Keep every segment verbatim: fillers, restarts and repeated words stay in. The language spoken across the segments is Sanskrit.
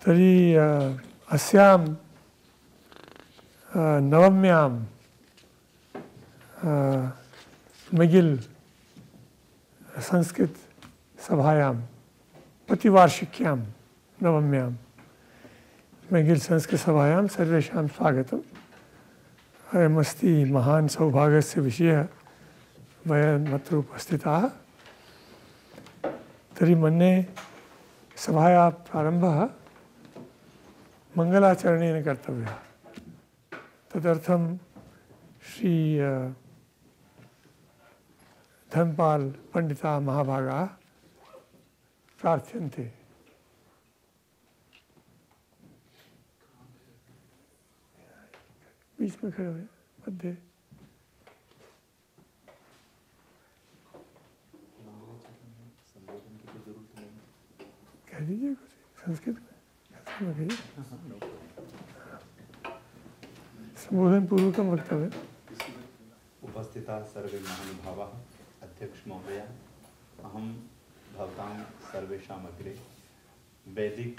तर्हि अस्यां नवम्यां मगिल संस्कृत सभायां प्रतिवार्षिक्यां नवम्यां मगिल संस्कृत सभायां सर्वेषां स्वागतम्। अयमस्ति महान् सौभाग्यस्य विषयः, वयम् अत्र उपस्थिताः। तर्हि मन्ये सभायाः प्रारम्भः मङ्गलाचरणेन कर्तव्यः। तदर्थं श्री धर्मपाल पंडिताः महाभागाः प्रार्थ्यन्ते। बीच में खड़े हुए मध्य कह दीजिए कुछ संस्कृत में, संबोधन पूर्वकं वक्तव्यम्। उपस्थिताः सर्वे महानुभावाः, अध्यक्ष महोदय, अहं भवतां सर्वेषाम् अग्रे वैदिक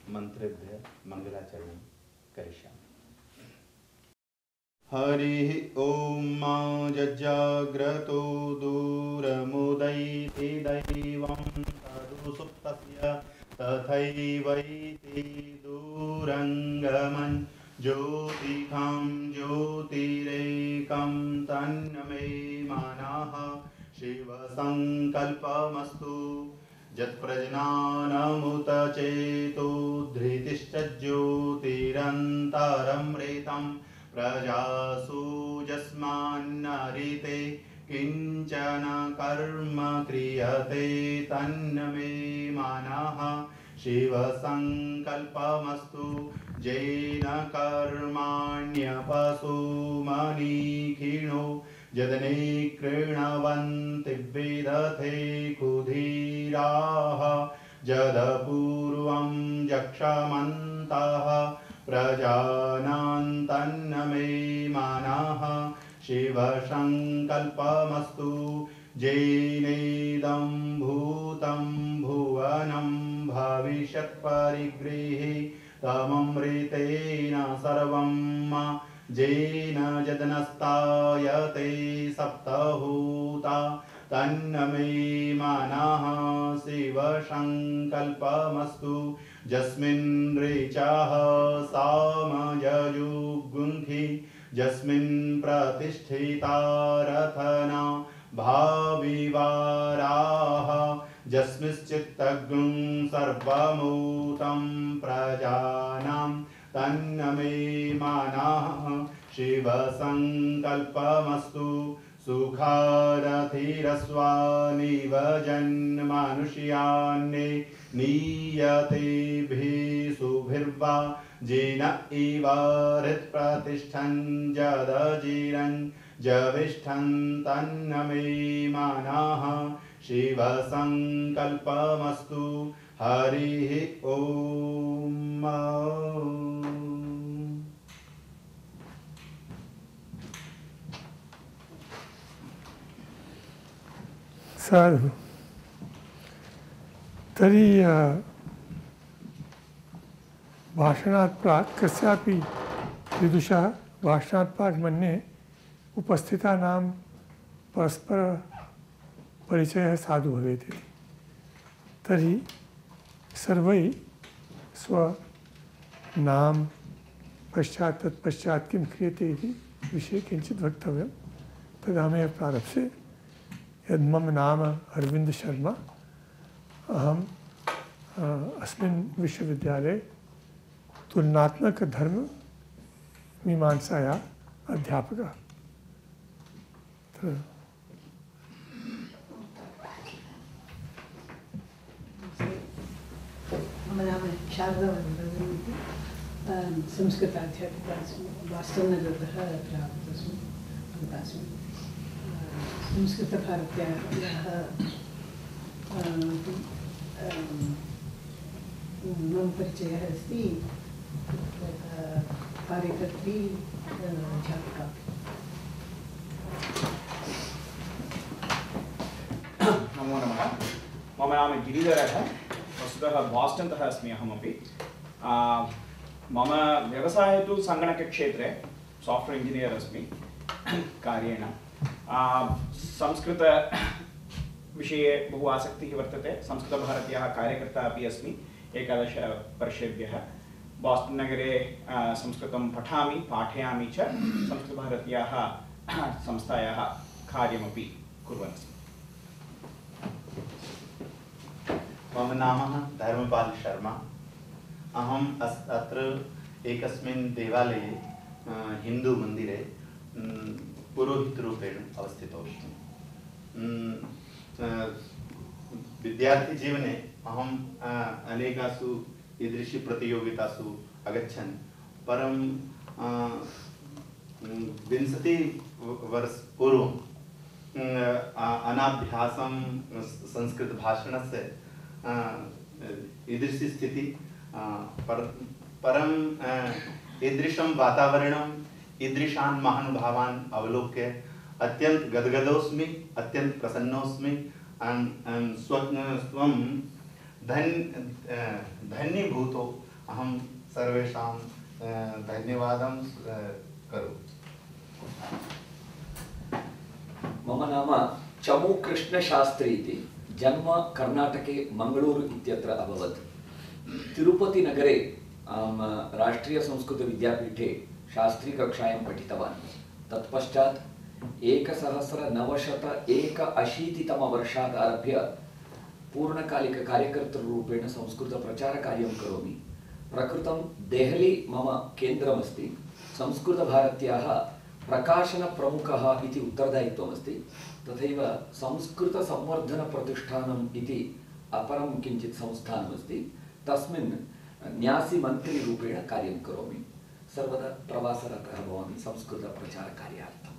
मंत्रेभ्यः मङ्गलाचरणं करिष्यामि। हरिः ॐ मा जज्जाग्रतो दूरमुदैति दैवं तदुसुप्तस्य तथैवैति दूरङ्गमन् ज्योतिखां ज्योतिरेकं तन्मे मानः शिवसङ्कल्पमस्तु। यत्प्रज्ञानमुत चेतो धृतिश्च ज्योतिरन्तरमृतं प्रजासु यस्मान्नरिते किञ्चन कर्म क्रियते तन्मे मानः शिवसङ्कल्पमस्तु। येन कर्माण्यपशु मनीखिणो यदने कृणवन्ति विदधे कुधीराः यदपूर्वं यक्षमन्तः प्रजानां तन्मे मानः शिवसङ्कल्पमस्तु। येनेदं भूतं भुवनं भविष्यत् परिगृहे तममृतेन सर्वं येन यदनस्तायते सप्तहूता तन्मे मानः शिवसङ्कल्पमस्तु। यस्मिन् ऋचः सामयजुगुंखि यस्मिन् प्रतिष्ठिता रथना भाविवाराः यस्मिंश्चित्तगुं सर्वमूतं प्रजानां तन्मे मानः शिवसङ्कल्पमस्तु। सुखारथिरस्वानिव जन्मनुष्यान्ये नीयतेभिः सुभिर्वा येन इव हृत्प्रतिष्ठन् जदजिरन् जविष्ठन् तन्मे मानः शिवसङ्कल्पमस्तु। हरिः ॐ। साधु। तर्हि भाषणात् प्राक् कस्यापि विदुषः भाषणात् प्राक् मन्ये उपस्थितानां परस्पर परिचयः साधु भवेत् इति। तर्हि सर्वैः स्वनाम पश्चात् तत्पश्चात् किं क्रियते इति विषये किञ्चित् वक्तव्यं। तदहमेव प्रारप्स्ये। यद् मम नाम अरविन्द शर्मा, अहम् अस्मिन् विश्वविद्यालये तुलनात्मकधर्ममीमांसायाः अध्यापकः। मम नाम शारदा इति, संस्कृताध्यापिका अस्मि। बास्टन्नगरतः अत्र आगतोऽस्मि अस्मि। संस्कृतभारत्याः मम परिचयः अस्ति। कार्यकर्त्री अध्यापिका। नमो नमः। मम नाम गिरिधरः, वस्तुतः बास्टन्तः अस्मि अहमपि। मम व्यवसायः तु सङ्गणकक्षेत्रे साफ्ट्वेर् इञ्जिनियर् अस्मि कार्येण। संस्कृतविषये बहु आसक्तिः वर्तते। संस्कृतभारत्याः कार्यकर्ता अपि अस्मि एकादश वर्षेभ्यः। बास्टन् नगरे संस्कृतं पठामि, पाठयामि च। संस्कृतभारत्याः संस्थायाः कार्यमपि कुर्वन् अस्मि। मम नाम धर्मपाल शर्मा। अहम् अत्र एकस्मिन् देवालये हिन्दूमन्दिरे पुरोहितरूपेण अवस्थितोऽस्मि। विद्यार्थीजीवने अहम् अनेकासु ईदृशी प्रतियोगितासु अगच्छन्, परं विंशतिवर्षपूर्वम् अनाभ्यासं संस्कृतभाषणस्य ईदृशी स्थितिः, पर परं ईदृशं वातावरणम्, ईदृशान् महानुभावान् अवलोक्य अत्यन्त गदगदोऽस्मि, अत्यन्त प्रसन्नोऽस्मि। स्वं धन् धन्यभूतो अहं सर्वेषां धन्यवादं करोमि। मम नाम चमू कृष्णशास्त्री इति। जन्म कर्नाटके मंगळूरु इत्यत्र अभवत्। तिरुपतिनगरे राष्ट्रीयसंस्कृतविद्यापीठे शास्त्रीकक्षायां पठितवान्। तत्पश्चात् एकसहस्रनवशत एक अशीतितमवर्षात् आरभ्य पूर्णकालिककार्यकर्तृरूपेण संस्कृतप्रचारकार्यं करोमि। प्रकृतं देहली मम केन्द्रमस्ति। संस्कृतभारत्याः प्रकाशनप्रमुखः इति उत्तरदायित्वमस्ति। तथैव संस्कृतसंवर्धनप्रतिष्ठानम् इति अपरं किञ्चित् संस्थानमस्ति। तस्मिन् न्यासिमन्त्रीरूपेण कार्यं करोमि। सर्वदा प्रवासरतः भवामि संस्कृतप्रचारकार्यार्थम्।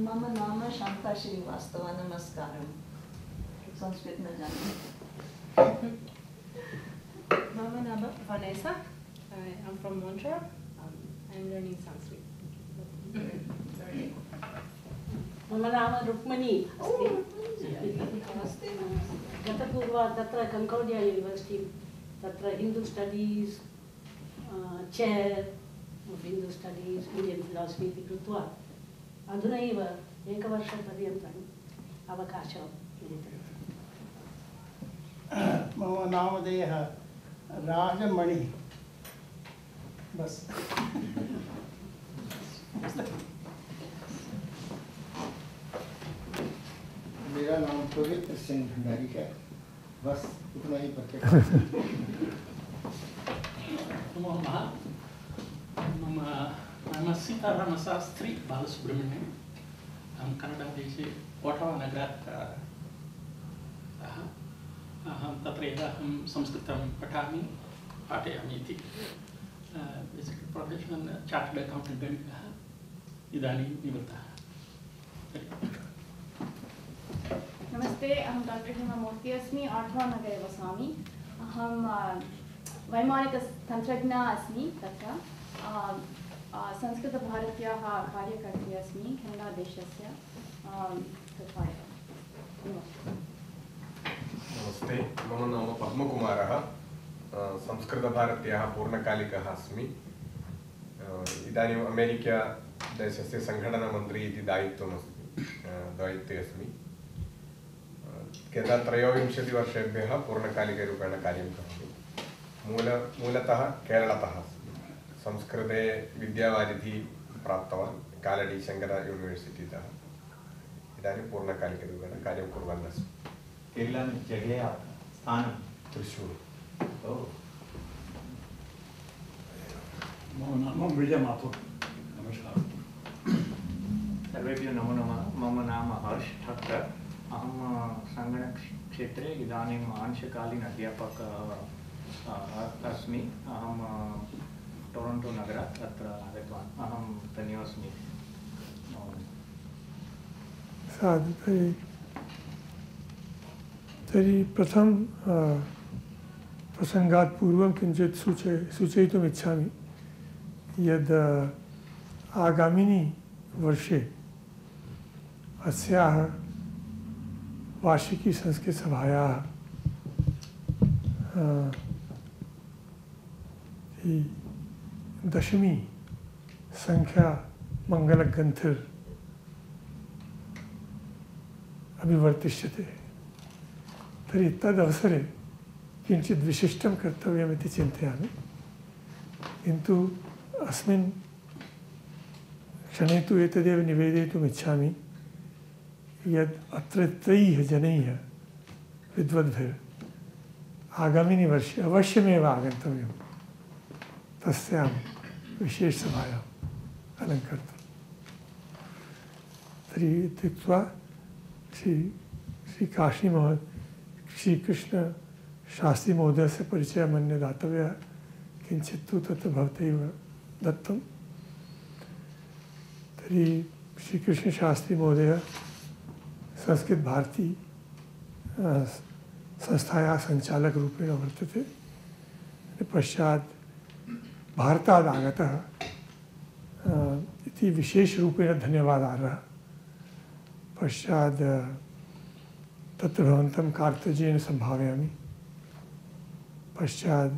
मम नाम शान्ता श्रीवास्तवा। नमस्कारं। संस्कृत न जानामि। मम नाम Vanessa. I'm from Montreal. Um, I'm learning Sanskrit. मम नाम रुक्मणी अस्ति। गतपूर्व तत्र कन्कोडिया यूनिवर्सिटी तत्र Hindu studies chair Hindu studies Indian philosophy इति कृत्वा अधुना एव एकवर्षपर्यन्तम् अवकाशं मिलितवती। मम नामधेयः राजमणि। बस। मेरा नाम पवित्र सिंह भंडारी है। बस इतना ही परफेक्ट। मम मम नाम सीतारामशास्त्री बालसुब्रह्मण्यम्। अहं कन्नडदेशे ओटावानगरात् अहं तत्रैव अहं संस्कृतं पठामि, पाठयामि इति। बेसिकलि प्रोफेशनल चार्टर्ड अकौण्टेण्ट् इदानीं निवृत्तः। नमस्ते, अहं डॉक्टर हेममूर्ति अस्मि। आठवानगरे वसामि। अहं वैमानिकतन्त्रज्ञा अस्मि। तत्र संस्कृतभारत्याः कार्यकर्त्री अस्मि केनडादेशस्य। तथा नमस्ते, मम नाम पद्मकुमारः। संस्कृतभारत्याः पूर्णकालिकः अस्मि। इदानीम् अमेरिका देशस्य सङ्घटनमन्त्री इति दायित्वमस्ति दायित्वे अस्मि। गत त्रयोविंशतिवर्षेभ्यः पूर्णकालिकरूपेण कार्यं करोमि। मूल मूलतः केरळतः अस्मि। संस्कृते विद्यावारिधिं प्राप्तवान् कालडी शङ्कर यूनिवर्सिटीतः। इदानीं पूर्णकालिकरूपेण कार्यं कुर्वन् अस्मि। केरला जगह स्थानं त्रिशूर्। मम नाम विजयमाथुर्। नमस्कारः। सर्वेभ्यो नमो नमः। मम नाम हर्ष ठक्कर। अहं सङ्गणकक्षेत्रे इदानीम् अंशकालीन अध्यापकः अस्मि। अहं टोरण्टो नगरात् अत्र आगतवान्। अहं धन्योऽस्मि। साधु तर्हि तर्हि प्रथम प्रसंगात् पूर्वं किञ्चित् सूचय सूचयितुम् इच्छामि यद् आगामिनि वर्षे अस्याः वार्षिकी संस्कृतसभायाः दशमी संख्या मङ्गलग्रन्थिर् अभिवर्तिष्यते। तर्हि तदवसरे किञ्चित् विशिष्टं कर्तव्यमिति चिन्तयामि। किन्तु अस्मिन् क्षणे तु एतदेव निवेदयितुम् इच्छामि यद् अत्रत्यैः जनैः विद्वद्भिः आगामिनि वर्षे अवश्यमेव आगन्तव्यं तस्यां विशेषसभायाम् अलङ्कर्तुम्। तर्हि इत्युक्त्वा श्री श्रीकाशीमहोदय श्रीकृष्णशास्त्रीमहोदयस्य परिचयः मन्ये दातव्यः। किञ्चित् तु तत् भवतैव दत्तं। तर्हि श्रीकृष्णशास्त्रीमहोदयः संस्कृतभारती संस्थायाः सञ्चालकरूपेण वर्तते। पश्चात् भारतात् आगतः इति विशेषरूपेण धन्यवादार्हः। पश्चात् तत्र भवन्तं कार्तजेन सम्भावयामि। पश्चात्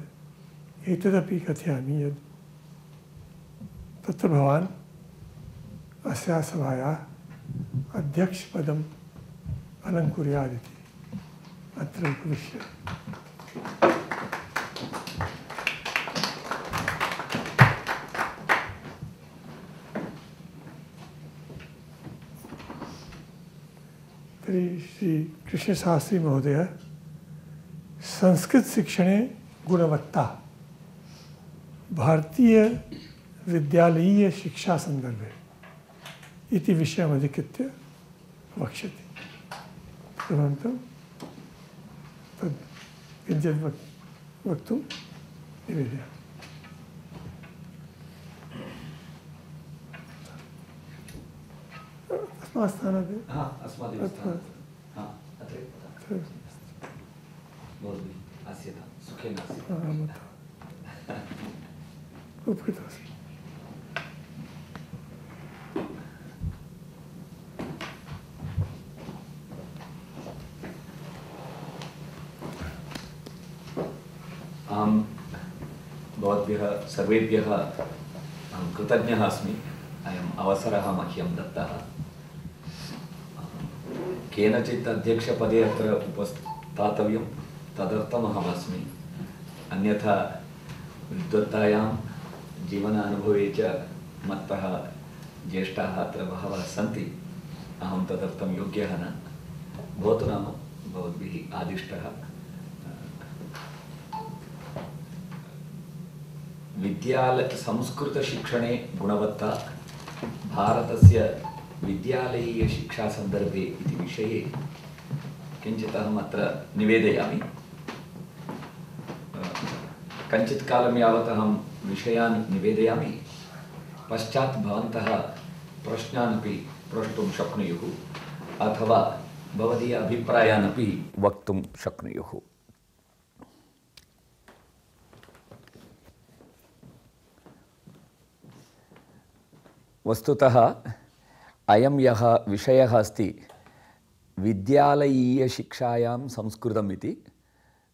एतदपि कथयामि यत् तत्र भवान् अस्याः सभायाः अध्यक्षपदम् अलङ्कुर्यादिति अत्र उपविश्य तर्हि श्रीकृष्णशास्त्रीमहोदयः संस्कृतशिक्षणे गुणवत्ता भारतीयविद्यालयीयशिक्षासन्दर्भे इति विषयमधिकृत्य वक्ष्यति। भवन्तं तद् किञ्चित् वक् वक्तुं निवेदयामि। अस्मात् स्थानात् हा अस्मादेव स्थानात् हा अत्रैव भवद्भिः आस्यतां सुखेन आसीत्। उपकृतोऽस्मि। अहं भवद्भ्यः सर्वेभ्यः अहं कृतज्ञः अस्मि। अयम् अवसरः मह्यं दत्तः। केनचित् अध्यक्षपदे अत्र उपस्थातव्यं तदर्थमहमस्मि। अन्यथा विद्वत्तायां जीवनानुभवे च मत्तः ज्येष्ठाः अत्र बहवः सन्ति। अहं तदर्थं योग्यः न। भवतु नाम भवद्भिः आदिष्टः विद्यालय संस्कृतशिक्षणे गुणवत्ता भारतस्य विद्यालयीयशिक्षासन्दर्भे इति विषये किञ्चित् अहम् अत्र निवेदयामि। कञ्चित् कालं यावत् अहं विषयान् निवेदयामि। पश्चात् भवन्तः प्रश्नान् अपि प्रष्टुं शक्नुयुः अथवा भवदीय अभिप्रायान् अपि वक्तुं शक्नुयुः। वस्तुतः अयं यः विषयः अस्ति विद्यालयीयशिक्षायां संस्कृतम् इति,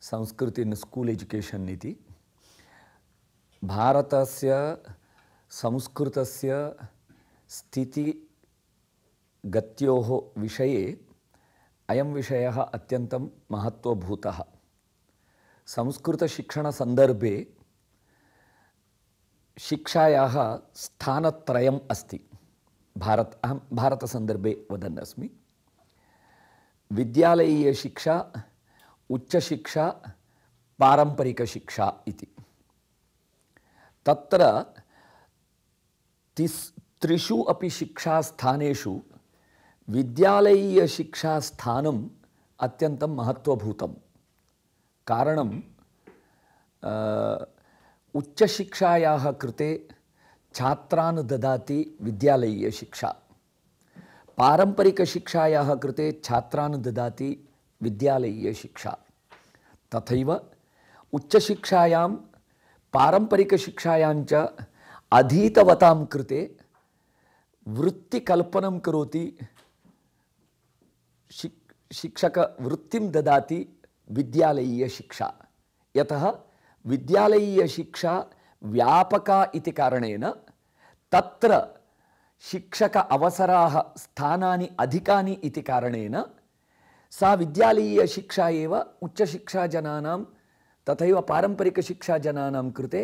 संस्कृत इन् स्कूल् एजुकेशन् इति, भारतस्य संस्कृतस्य स्थितिगत्योः विषये अयं विषयः अत्यन्तं महत्त्वभूतः। संस्कृतशिक्षणसन्दर्भे शिक्षायाः स्थानत्रयम् अस्ति। भारत अहं भारतसन्दर्भे वदन् अस्मि। विद्यालयीयशिक्षा, उच्चशिक्षा, पारम्परिकशिक्षा इति। तत्र तिस् त्रिषु अपि शिक्षास्थानेषु विद्यालयीयशिक्षास्थानम् अत्यन्तं महत्त्वभूतं। कारणं उच्चशिक्षायाः कृते छात्रान् ददाति विद्यालयीयशिक्षा, पारम्परिकशिक्षायाः कृते छात्रान् ददाति विद्यालयीयशिक्षा। तथैव उच्चशिक्षायां पारम्परिकशिक्षायां च अधीतवतां कृते वृत्तिकल्पनं करोति शिक्षकवृत्तिं ददाति विद्यालयीयशिक्षा। यतः विद्यालयीयशिक्षा व्यापका इति कारणेन तत्र शिक्षक अवसराः स्थानानि अधिकानि इति कारणेन सा विद्यालयीयशिक्षा एव उच्चशिक्षाजनानां तथैव पारम्परिकशिक्षाजनानां कृते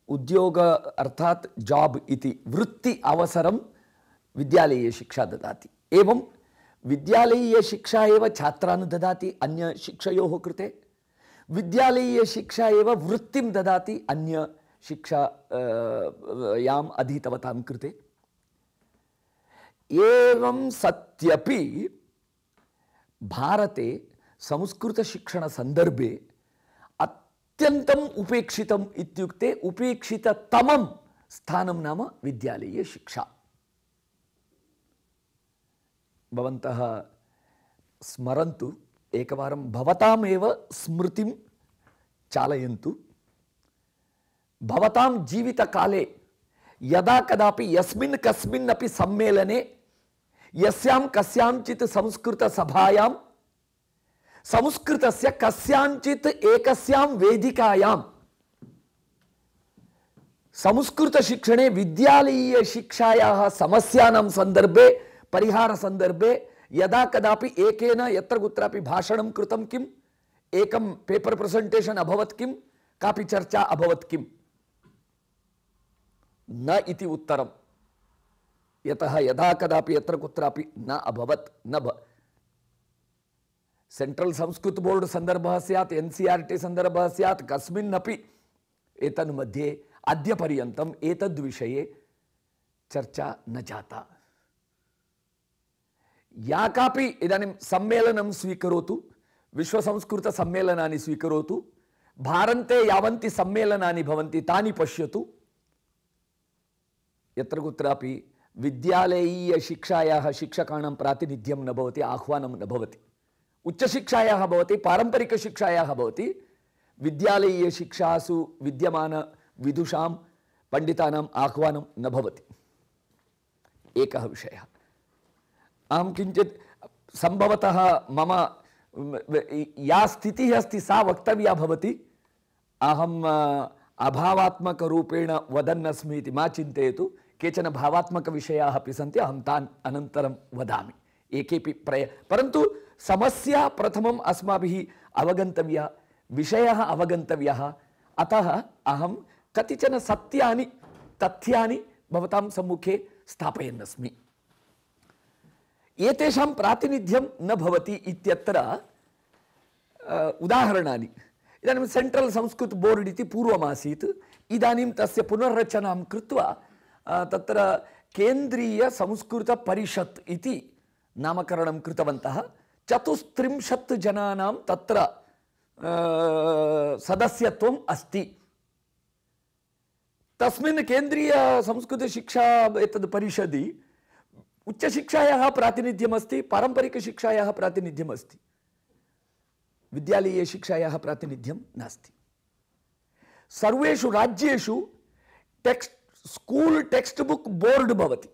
उद्योग अर्थात जॉब इति वृत्ति अवसरं विद्यालयीयशिक्षा ददाति। एवं विद्यालयीयशिक्षा एव छात्रान् ददाति अन्य शिक्षयोः कृते, विद्यालयीयशिक्षा एव वृत्तिं ददाति अन्य शिक्षा याम् अधीतवतां कृते। एवं सत्यपि भारते संस्कृतशिक्षण संदर्भे अत्यन्तम् उपेक्षितम् इत्युक्ते उपेक्षिततमं स्थानं नाम विद्यालयीयशिक्षा। भवन्तः स्मरन्तु, एकवारं भवतामेव स्मृतिं चालयन्तु। भवतां जीवितकाले यदा कदापि यस्मिन् कस्मिन् अपि सम्मेलने यस्यां कस्यांचित् संस्कृतसभायां संस्कृतस्य कस्यांचित् एकस्यां वेदिकायां संस्कृतशिक्षणे विद्यालयीयशिक्षायाः समस्यानां सन्दर्भे परिहारसन्दर्भे यदा कदापि एकेन यत्र कुत्रापि भाषणं कृतं किम्, एकं पेपर् प्रेजेंटेशन् अभवत् किम्, कापि चर्चा अभवत् किम्? न इति उत्तरम्। यतः यदा कदापि यत्र कुत्रापि न अभवत् न भ सेंट्रल संस्कृत बोर्ड संदर्भः स्यात्, एनसीईआरटी संदर्भः स्यात्, कस्मिन्नपि एतन्मध्ये अद्य पर्यन्तम् एतद्विषये चर्चा न जाता। या कापि इदानीं सम्मेलनं स्वीकरोतु, विश्वसंस्कृत सम्मेलनानि स्वीकरोतु, भारते यावन्ति सम्मेलनानि भवन्ति तानि पश्यतु, यत्र कुत्रापि विद्यालयीयशिक्षायाः शिक्षकाणां प्रातिनिध्यं न भवति, आह्वानं न भवति। उच्चशिक्षायाः भवति, पारम्परिकशिक्षायाः भवति, विद्यालयीयशिक्षासु विद्यमान विदुषां पंडितानाम् आह्वानं न भवति। एकः विषयः। अहं किञ्चित् सम्भवतः मम या स्थितिः अस्ति सा वक्तव्या भवति। अहम् अभावात्मकरूपेण वदन्नस्मि इति मा चिन्तयतु। केचन भावात्मकविषयाः अपि सन्ति, अहं तान् अनन्तरं वदामि। एकेपि प्रय परन्तु समस्या प्रथमम् अस्माभिः अवगन्तव्या, विषयः अवगन्तव्यः। अतः अहं कतिचन सत्यानि तथ्यानि भवतां सम्मुखे स्थापयन्नस्मि। एतेषां प्रातिनिध्यं न भवति इत्यत्र उदाहरणानि। इदानीं सेंट्रल संस्कृत बोर्ड इति पूर्वमासीत्, इदानीं तस्य पुनर्रचनां कृत्वा तत्र केन्द्रीय संस्कृत परिषत् इति नामकरणं कृतवन्तः। चतुस्त्रिंशत् जनानां तत्र सदस्यत्वम् अस्ति। तस्मिन् केन्द्रीय संस्कृत शिक्षा एतद् परिषदि उच्चशिक्षायाः प्रातिनिध्यम् अस्ति, पारम्परिकशिक्षायाः प्रातिनिध्यम् अस्ति, विद्यालयीयशिक्षायाः प्रातिनिध्यं नास्ति। सर्वेषु राज्येषु text school text book board भवति,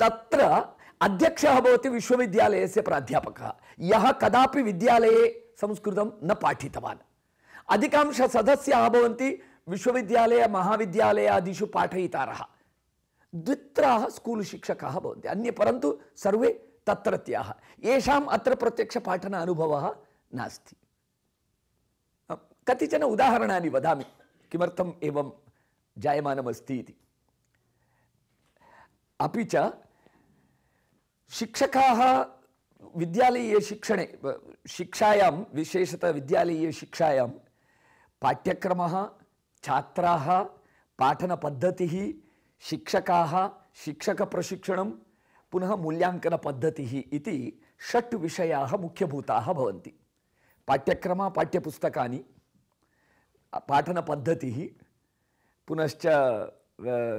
तत्र अध्यक्षः भवति विश्वविद्यालयस्य प्राध्यापकः, यः कदापि विद्यालये संस्कृतं न पाठितवान्। अधिकांश सदस्याः भवन्ति विश्वविद्यालय महाविद्यालयादिषु पाठयितारः, द्वित्राः स्कूल शिक्षकाः भवन्ति, अन्ये परन्तु सर्वे तत्रत्याः। येषाम् अत्र प्रत्यक्ष पाठन अनुभवः नास्ति। कतिचन उदाहरणानि वदामि किमर्थम् एवं जायमानमस्ति इति। अपि च शिक्षकाः विद्यालयीय शिक्षणे शिक्षायां विशेषतः विद्यालयीय शिक्षायां पाठ्यक्रमः, छात्राः, पाठनपद्धतिः, शिक्षकाः, शिक्षकप्रशिक्षणं, पुनः मूल्याङ्कनपद्धतिः इति षट् विषयाः मुख्यभूताः भवन्ति। पाठ्यक्रम, पाठ्यपुस्तकानि, पाठनपद्धतिः, पुनश्च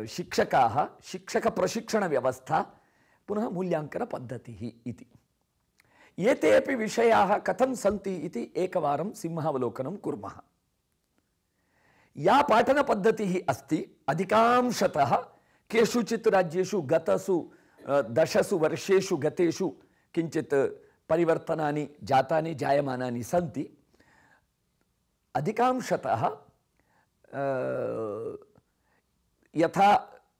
शिक्षकाः, शिक्षकप्रशिक्षणव्यवस्था, पुनः मूल्याङ्कनपद्धतिः इति। एते अपि विषयाः कथं सन्ति इति एकवारं सिंहावलोकनं कुर्मः। या पाठनपद्धतिः अस्ति अधिकांशतः केषुचित् राज्येषु गतसु दशसु वर्षेषु गतेषु किञ्चित् परिवर्तनानि जातानि जायमानानि सन्ति। अधिकांशतः यथा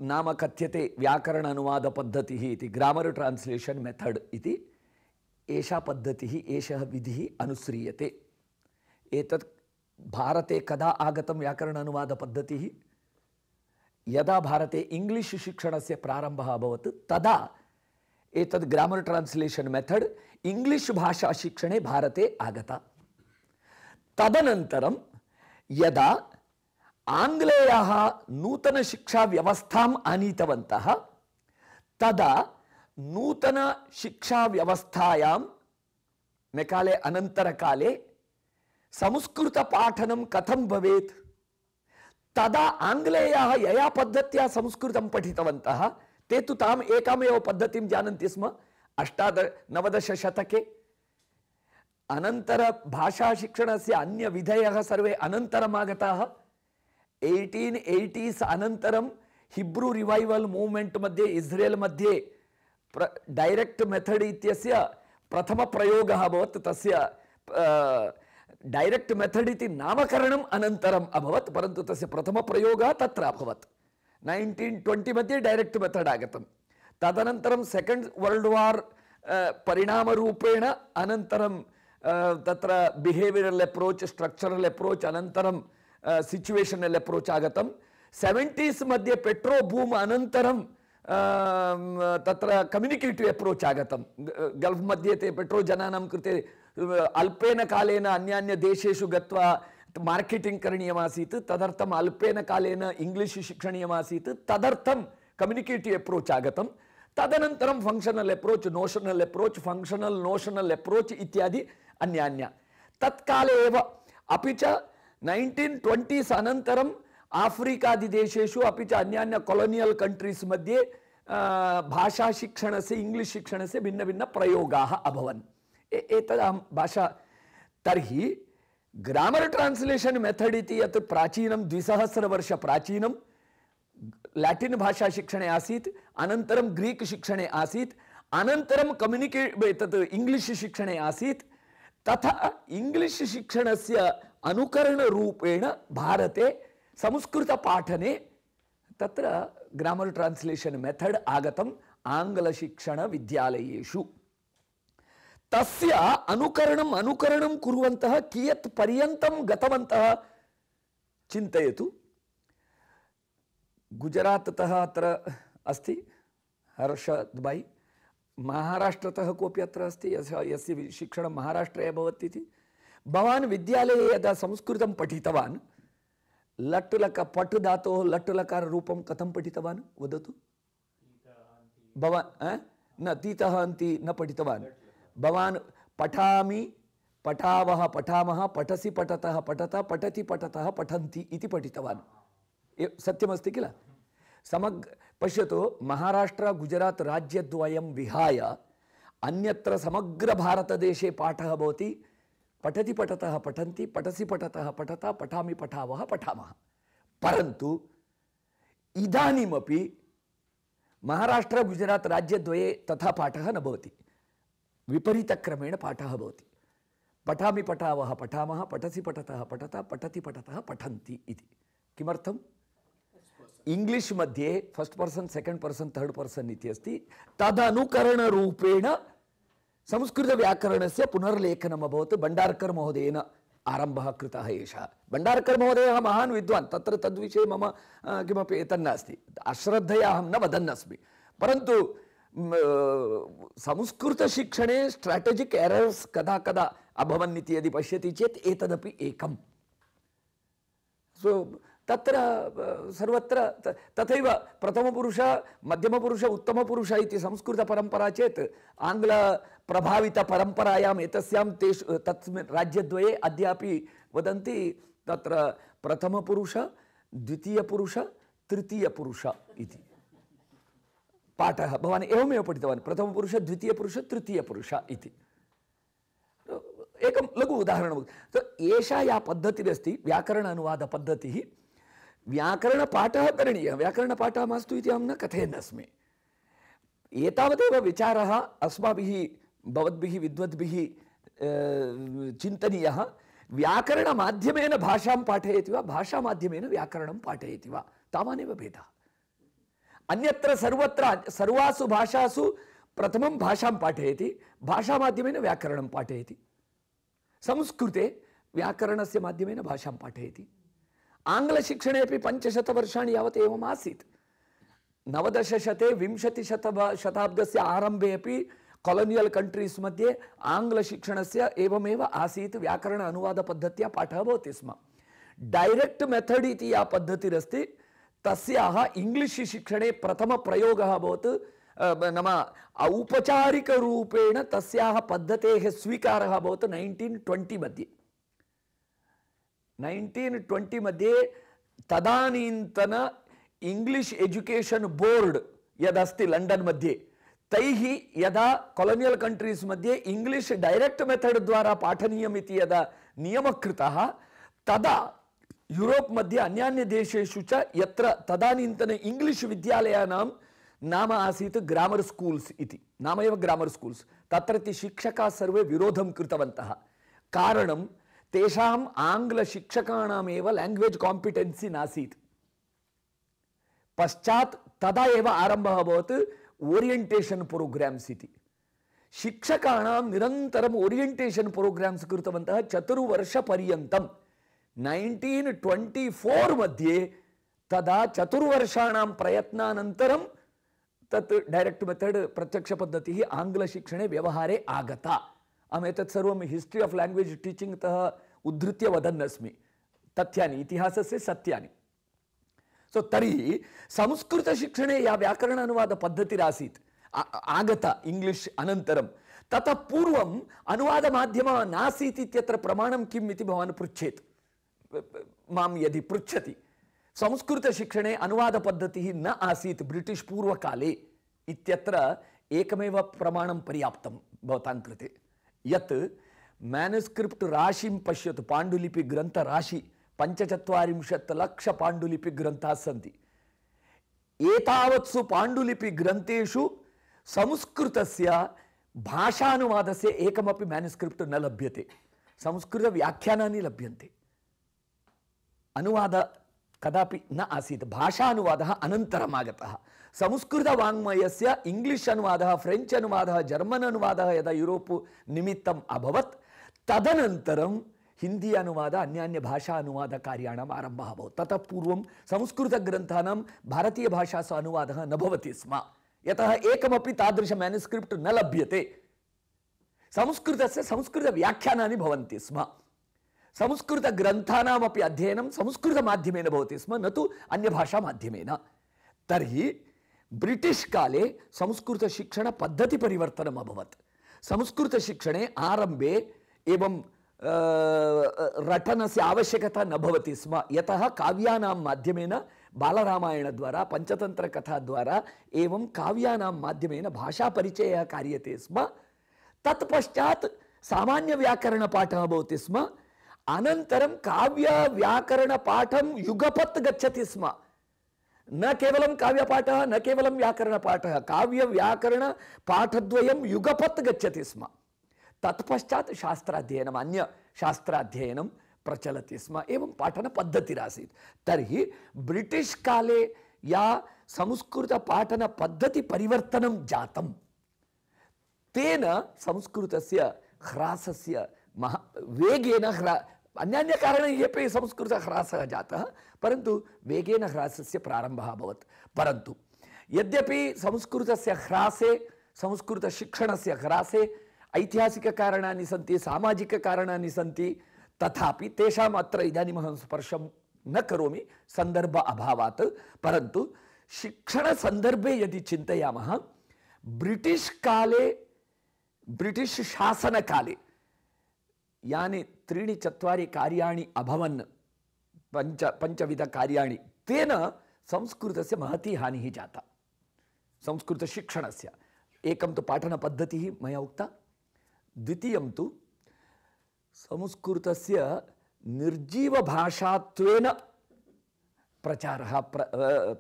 नाम कथ्यते व्याकरण अनुवाद पद्धतिः इति, ग्रामर ट्रांसलेशन मेथड इति, एषा पद्धतिः एषः विधिः अनुस्रियते। एतत् भारते कदा आगतं व्याकरण अनुवाद पद्धतिः? यदा भारते इंग्लिश शिक्षणस्य प्रारम्भः अभवत् तदा एतद् ग्रामर ट्रांसलेशन मेथड इंग्लिश भाषा शिक्षणे भारते आगता। तदनन्तरं यदा आंग्लेयाः नूतन शिक्षा व्यवस्थाम् आनीतवन्तः तदा नूतन शिक्षा व्यवस्थायां मेकाले अनन्तरकाले संस्कृत पाठनं कथं भवेत्? तदा आंग्लेयाः यया पद्धत्या संस्कृतं पठितवन्तः ते तु ताम् एकामेव पद्धतिं जानन्ति स्म। अष्टादश नवदश शतके अनन्तर भाषा शिक्षणस्य अन्य विधयः सर्वे अनन्तरम् आगताः। एटीन् एय्टीस् अनन्तरं हिब्रू रिवैवल मूवमेंट मध्ये इस्रेल मध्ये डायरेक्ट मेथड इत्यस्य प्रथम प्रयोगः अभवत्। तस्य डायरेक्ट मेथड इति नामकरणम् अनन्तरम् अभवत्, परन्तु तस्य प्रथम प्रयोगः तत्र अभवत्। नैन्टीन् ट्वेंटी मध्ये डायरेक्ट मेथड आगतं। तदनन्तरं सेकेंड वर्ल्ड वार परिणामरूपेण अनन्तरं तत्र बिहेवियरल अप्रोच, स्ट्रक्चरल अप्रोच, अनन्तरं सिचुएशनल अप्रोच आगतं। सेवेंटीस् मध्ये पेट्रो बूम अनन्तरं तत्र कम्युनिकेटिव अप्रोच आगतं। गल्फ मध्ये ते पेट्रो जनानां कृते अल्पेन कालेन अन्यान्य देशेषु गत्वा मार्केटिंग करणीयमासीत्, तदर्थम् अल्पेन कालेन इंग्लिश शिक्षणीयमासीत्, तदर्थं कम्युनिकेटिव अप्रोच आगतं। तदनन्तरं functional approach, notional approach, functional notional approach इत्यादि अन्यान्य। तत्काले एव अपि च नैन्टीन् ट्वेंटीस् अनन्तरं आफ्रिकादिदेशेषु अपि च अन्यान्य कोलोनियल कंट्रीस् मध्ये भाषा शिक्षणस्य, इंग्लिश शिक्षणस्य भिन्न भिन्न प्रयोगाः अभवन्। एतद् अहं भाषा तर्हि ग्रामर ट्रांसलेशन मेथड इति यत् प्राचीनं द्विसहस्र वर्ष प्राचीनं लैटिन भाषा शिक्षणे आसीत्, अनन्तरं ग्रीक शिक्षणे आसीत्, अनन्तरं कम्युनिकेट तत् इंग्लिश शिक्षणे आसीत्। तथा इंग्लिश शिक्षणस्य अनुकरण रूपेण भारते संस्कृत पाठने तत्र ग्रामर ट्रांसलेशन मेथड आगतम् आंग्ल शिक्षण विद्यालयेषु। तस्य अनुकरणम् अनुकरणं कुर्वन्तः कियत् पर्यन्तं गतवन्तः चिन्तयतु। गुजराततः अत्र अस्ति हर्षद् भाई, महाराष्ट्रतः कोऽपि अत्र अस्ति यस्य शिक्षणं महाराष्ट्रे अभवत् इति। भवान् विद्यालये यदा संस्कृतं पठितवान्, लट् लक पट् धातोः लट् लकार रूपं कथं पठितवान् वदतु? भवान् न तीतः अन्ति न पठितवान्। भवान् पठामि, पठावः, पठामः, पठसि, पठतः, पठता, पठति, पठतः, पठन्ति इति पठितवान्। सत्यमस्ति किल? समग्र पश्यतु, महाराष्ट्र गुजरात राज्यद्वयं विहाय अन्यत्र समग्र भारतदेशे पाठः भवति पठति, पठतः, पठन्ति, पठसि, पठतः, पठता, पठामि, पठावः, पठामः। परन्तु इदानीमपि महाराष्ट्र गुजरात राज्यद्वये तथा पाठः न भवति, विपरीतक्रमेण पाठः भवति। पठामि, पठावः, पठामः, पठसि, पठतः, पठता, पठति, पठतः, पठन्ति इति। किमर्थम्? इंग्लिश मध्ये first person, second person, third person इति अस्ति। तदनुकरण रूपेण संस्कृत व्याकरणस्य पुनर्लेखनम् अभवत्। भण्डारकर महोदयेन आरम्भः कृतः एषः। भण्डारकर महोदयः महान् विद्वान्, तत्र तद्विषये मम किमपि एतन्नास्ति, अश्रद्धया अहं न वदन् अस्मि। परन्तु संस्कृत शिक्षणे स्ट्राटेजिक एरर्स कदा कदा अभवन् इति यदि पश्यति चेत् एतदपि एकम्। सो तत्र सर्वत्र तथैव प्रथमपुरुष, मध्यमपुरुष, उत्तमपुरुष इति संस्कृतपरम्परा चेत् आङ्ग्ल प्रभावित परम्परायाम् एतस्यां तेषु तस्मिन् राज्यद्वये अद्यापि वदन्ति तत्र प्रथमपुरुष, द्वितीयपुरुष, तृतीयपुरुष इति पाठः। भवान् एवमेव पठितवान्, प्रथमपुरुष, द्वितीयपुरुष, तृतीयपुरुष इति। एकं लघु उदाहरणं। तो एषा या पद्धतिरस्ति व्याकरण अनुवाद पद्धतिः, व्याकरणपाठः करणीयः, व्याकरणपाठः मास्तु इति अहं न कथयन् अस्मि। एतावदेव विचारः अस्माभिः भवद्भिः विद्वद्भिः चिन्तनीयः व्याकरणमाध्यमेन भाषां पाठयति वा भाषामाध्यमेन व्याकरणं पाठयति वा तावानेव भेदः अन्यत्र सर्वत्र सर्वासु भाषासु प्रथमं भाषां पाठयति भाषामाध्यमेन व्याकरणं पाठयति संस्कृते व्याकरणस्य माध्यमेन भाषां पाठयति आङ्ग्लशिक्षणे अपि पञ्चशतवर्षाणि यावत् एवम् आसीत् नवदशशते विंशतिशत शताब्दस्य आरम्भे अपि कॉलोनियल कंट्रीस् मध्ये आङ्ग्लशिक्षणस्य एवमेव आसीत् व्याकरण अनुवादपद्धत्या पाठः भवति स्म डायरेक्ट मेथड इति या पद्धतिरस्ति तस्याः इंग्लिश शिक्षणे प्रथमप्रयोगः अभवत् नाम औपचारिकरूपेण तस्याः पद्धतेः स्वीकारः अभवत् नैन्टीन् ट्वेण्टि मध्ये नैन्टीन् ट्वेण्टि मध्ये तदानीन्तन इंग्लिश एजुकेशन बोर्ड यदस्ति लंडन मध्ये तैः यदा कॉलोनियल कंट्रीज मध्ये इंग्लिश डायरेक्ट मेथड द्वारा पाठनीयम् इति यदा नियमः कृतः तदा यूरोप मध्ये अन्यान्य देशेषु च यत्र तदानीन्तन इंग्लिश विद्यालयानां नाम आसीत् ग्रामर स्कूल्स इति नाम एव ग्रामर स्कूल्स तत्रत्य शिक्षकाः सर्वे विरोधं कृतवन्तः कारणं तेषाम् आङ्ग्ल शिक्षकाणामेव लैंग्वेज कॉम्पिटेन्सी नासीत् पश्चात् तदा एव आरम्भः अभवत् ओरिएंटेशन प्रोग्राम्स इति शिक्षकाणां निरन्तरम् ओरिएंटेशन प्रोग्राम्स कृतवन्तः चतुर्वर्षपर्यन्तं नैन्टीन् ट्वेण्टि फोर् मध्ये तदा चतुर्वर्षाणां प्रयत्नानन्तरं तत् डायरेक्ट मेथड प्रत्यक्षपद्धतिः आङ्ग्लशिक्षणे व्यवहारे आगता अहम् एतत् सर्वं हिस्ट्री ऑफ लैंग्वेज टीचिंग तः उद्धृत्य वदन् अस्मि तथ्यानि इतिहासस्य सत्यानि सो तर्हि संस्कृत शिक्षणे या व्याकरण अनुवाद पद्धतिरासीत् आगता इंग्लिश अनन्तरं ततः पूर्वम् अनुवाद माध्यमः नासीत् इत्यत्र प्रमाणं किम् इति भवान् पृच्छेत् मां यदि पृच्छति संस्कृत शिक्षणे अनुवाद पद्धतिः न आसीत् ब्रिटिश पूर्वकाले इत्यत्र एकमेव प्रमाणं पर्याप्तं भवतां कृते यत् मैनुस्क्रिप्ट राशिं पश्यतु पाण्डुलिपि ग्रंथ राशि पंचचत्वारिंशत् लक्ष पाण्डुलिपि ग्रंथाः सन्ति एतावत्सु पाण्डुलिपि ग्रंथेषु संस्कृतस्य भाषानुवादस्य एकमपि मैनुस्क्रिप्ट न लभ्यते संस्कृत व्याख्यानानि लभ्यन्ते अनुवाद कदापि न आसीत् भाषानुवादः अनन्तरम् आगतः संस्कृत वाङ्मयस्य इंग्लिश अनुवादः फ्रेंच अनुवादः जर्मन अनुवादः यदा यूरोप निमित्तम् अभवत् तदनन्तरं हिंदी अनुवाद अन्यान्य भाषा अनुवाद कार्याणाम् आरम्भः अभवत् ततः पूर्वं संस्कृत ग्रन्थानां भारतीय भाषासु अनुवादः न भवति स्म यतः एकमपि तादृश मैनुस्क्रिप्ट न लभ्यते संस्कृतस्य संस्कृत व्याख्यानानि भवन्ति स्म संस्कृत ग्रन्थानामपि अध्ययनं संस्कृत माध्यमेन भवति स्म न तु अन्य भाषा माध्यमेन तर्हि ब्रिटिश काले संस्कृत शिक्षण पद्धति परिवर्तनम् अभवत् संस्कृत शिक्षणे आरम्भे एवं रटनस्य आवश्यकता न भवति स्म यतः काव्यानां माध्यमेन बालरामायण द्वारा पंचतंत्र कथा द्वारा एवं काव्यानां माध्यमेन भाषा परिचयः कार्यते स्म तत्पश्चात् सामान्य व्याकरण पाठः भवति स्म अनन्तरं काव्य व्याकरण पाठं युगपत् गच्छति स्म न केवलं काव्यपाठः न केवलं व्याकरणपाठः काव्य व्याकरण पाठद्वयं युगपत् गच्छति स्म तत्पश्चात् शास्त्राध्ययनम् अन्य शास्त्राध्ययनं प्रचलति स्म एवं पाठन पद्धतिरासीत् तर्हि ब्रिटिश काले या संस्कृत पाठन पद्धति परिवर्तनं जातं तेन संस्कृतस्य ह्रासस्य महा वेगेन ह्रा अन्यान्य कारणैः संस्कृत ह्रासः जातः परन्तु वेगेन ह्रासस्य प्रारम्भः अभवत् परन्तु यद्यपि संस्कृतस्य ह्रासे संस्कृत शिक्षणस्य ह्रासे ऐतिहासिक कारणानि सन्ति सामाजिक कारणानि सन्ति तथापि तेषाम् अत्र इदानीम् अहं स्पर्शं न करोमि सन्दर्भ अभावात् परन्तु शिक्षण संदर्भे यदि चिन्तयामः ब्रिटिश काले ब्रिटिश शासन काले यानि त्रीणि चत्वारि कार्याणि अभवन् पंच पंचविध कार्याणि तेन संस्कृतस्य महती हानिः जाता संस्कृत शिक्षणस्य एकं तु पाठन पद्धतिः मया उक्ता द्वितीयं तु संस्कृतस्य निर्जीव भाषात्वेन प्रचारः प्र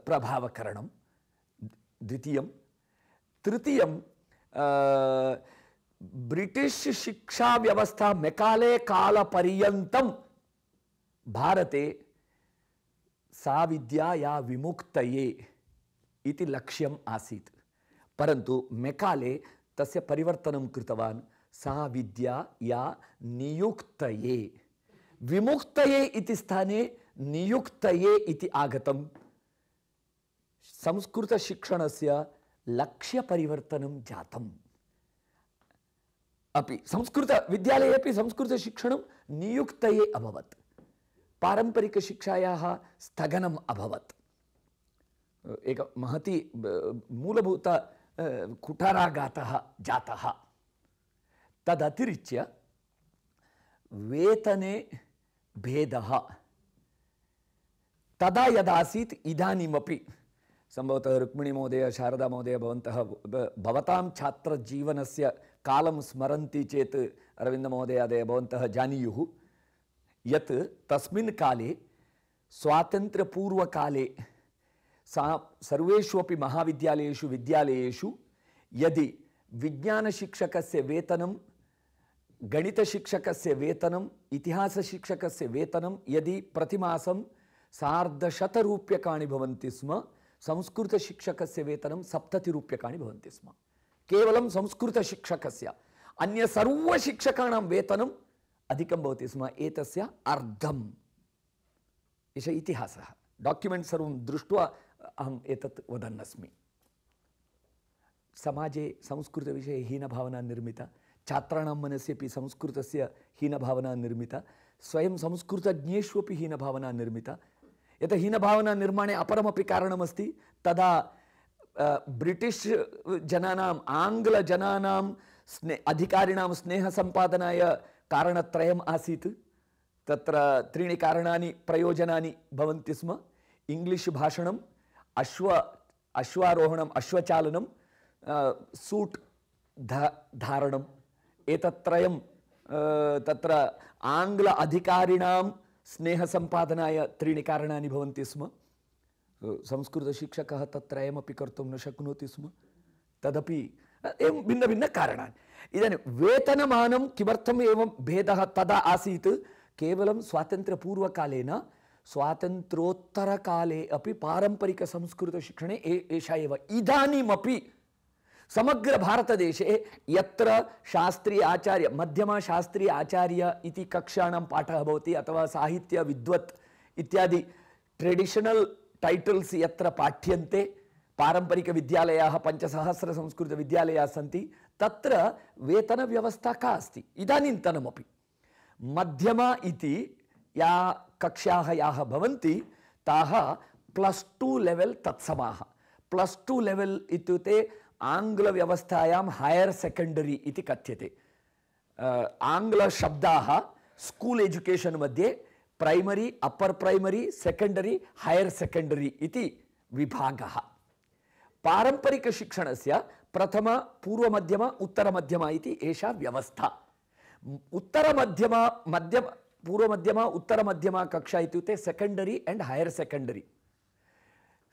प्रभावकरणं द्वितीयं तृतीयं ब्रिटिश शिक्षा व्यवस्था मेकाले काल पर्यन्तं भारते सा विद्या या विमुक्तये इति लक्ष्यम् आसीत्, परन्तु मेकाले तस्य परिवर्तनं कृतवान्, सा विद्या या नियुक्तये, विमुक्तये इति स्थाने नियुक्तये इति आगतं। संस्कृत शिक्षणस्य लक्ष्य परिवर्तनं जातम्। अपि संस्कृत विद्यालये अपि संस्कृत शिक्षणं नियुक्तये अभवत्, पारंपरिक शिक्षायाः स्थगनम् अभवत्। एक महती मूलभूत कुठाराघातः जातः। तदतिरिच्य वेतने भेदः तदा यदासीत् इदानीमपि संभवतः रुक्मिणी महोदय, शारदा महोदय भवन्तः भवतां छात्रजीवनस्य कालं स्मरन्ति चेत् अरविन्द महोदयादय भवन्तः जानीयुः यत् तस्मिन् काले स्वातन्त्र्यपूर्वकाले सा सर्वेषु अपि महाविद्यालयेषु विद्यालयेषु यदि विज्ञानशिक्षकस्य वेतनं, गणितशिक्षकस्य वेतनम्, इतिहासशिक्षकस्य वेतनं यदि प्रतिमासं सार्धशतरूप्यकाणि भवन्ति स्म, संस्कृतशिक्षकस्य वेतनं सप्ततिरूप्यकाणि भवन्ति स्म। केवलं संस्कृतशिक्षकस्य, अन्य सर्वशिक्षकाणां वेतनम् अधिकं भवति स्म, एतस्य अर्धम्। एष इतिहासः, डाक्युमेण्ट् सर्वं दृष्ट्वा अहम् एतत् वदन् अस्मि। समाजे संस्कृतविषये हीनभावना निर्मिता, छात्राणां मनसि अपि संस्कृतस्य हीनभावना निर्मिता, स्वयं संस्कृतज्ञेषु अपि हीनभावना निर्मिता। यत् हीनभावना निर्माणे अपरमपि कारणमस्ति। तदा ब्रिटिश् जनानाम्, आङ्ग्लजनानां स्ने अधिकारिणां स्नेहसम्पादनाय कारणत्रयम् आसीत्। तत्र त्रीणि कारणानि प्रयोजनानि भवन्ति स्म। इंग्लिश भाषणम्, अश्व अश्वारोहणम्, अश्वचालनं, सूट् धारणम्, एतत्त्रयं तत्र आङ्ग्ल अधिकारिणां स्नेहसम्पादनाय त्रीणि कारणानि भवन्ति स्म। संस्कृतशिक्षकः तत्त्रयमपि कर्तुं न शक्नोति स्म। तदपि एवं भिन्नभिन्नकारणानि। इदानीं वेतनमानं किमर्थम् एवं भेदः तदा आसीत्? केवलं स्वातन्त्र्यपूर्वकाले न, स्वातन्त्र्योत्तरकाले अपि पारम्परिकसंस्कृतशिक्षणे एषा एव। इदानीमपि समग्र भारतदेशे यत्र शास्त्रीय आचार्य, मध्यमा शास्त्रीय आचार्य इति कक्षाणां पाठः भवति, अथवा साहित्य विद्वत् इत्यादि ट्रेडिशनल टाइटल्स यत्र पाठ्यन्ते, पारंपरिक विद्यालयाः पञ्चसहस्र संस्कृत विद्यालयाः सन्ति, तत्र वेतनव्यवस्था का अस्ति? इदानीन्तनमपि मध्यमा इति या कक्षाः याः भवन्ति ताः प्लस टू लेवल तत्समाः। प्लस टू लेवल इत्युक्ते आङ्ग्लव्यवस्थायां हायर सेकेंडरी इति कथ्यते। आङ्ग्लशब्दाः स्कूल एजुकेशन मध्ये primary, upper primary, secondary, higher secondary इति विभागः। पारंपरिक शिक्षणस्य प्रथम, पूर्वमध्यम, उत्तरमध्यम इति एषा व्यवस्था। उत्तरमध्यम, मध्यम, पूर्वमध्यम, उत्तरमध्यम कक्षा इत्युक्ते सेकेंडरी एंड हायर सेकेंडरी।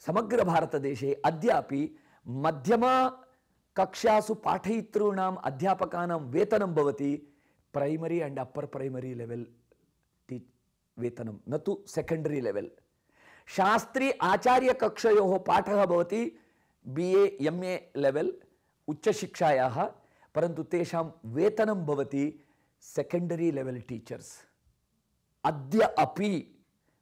समग्र भारतदेशे अद्यापि मध्यमा कक्षासु पाठयितॄणाम् अध्यापकानां वेतनं भवति primary and upper primary level वेतनं, न तु सेकेंडरी लेवल। शास्त्री आचार्य कक्षयोः पाठः भवति B A M A level उच्चशिक्षायाः, परन्तु तेषां वेतनं भवति सेकेंडरी लेवल टीचर्स। अद्य अपि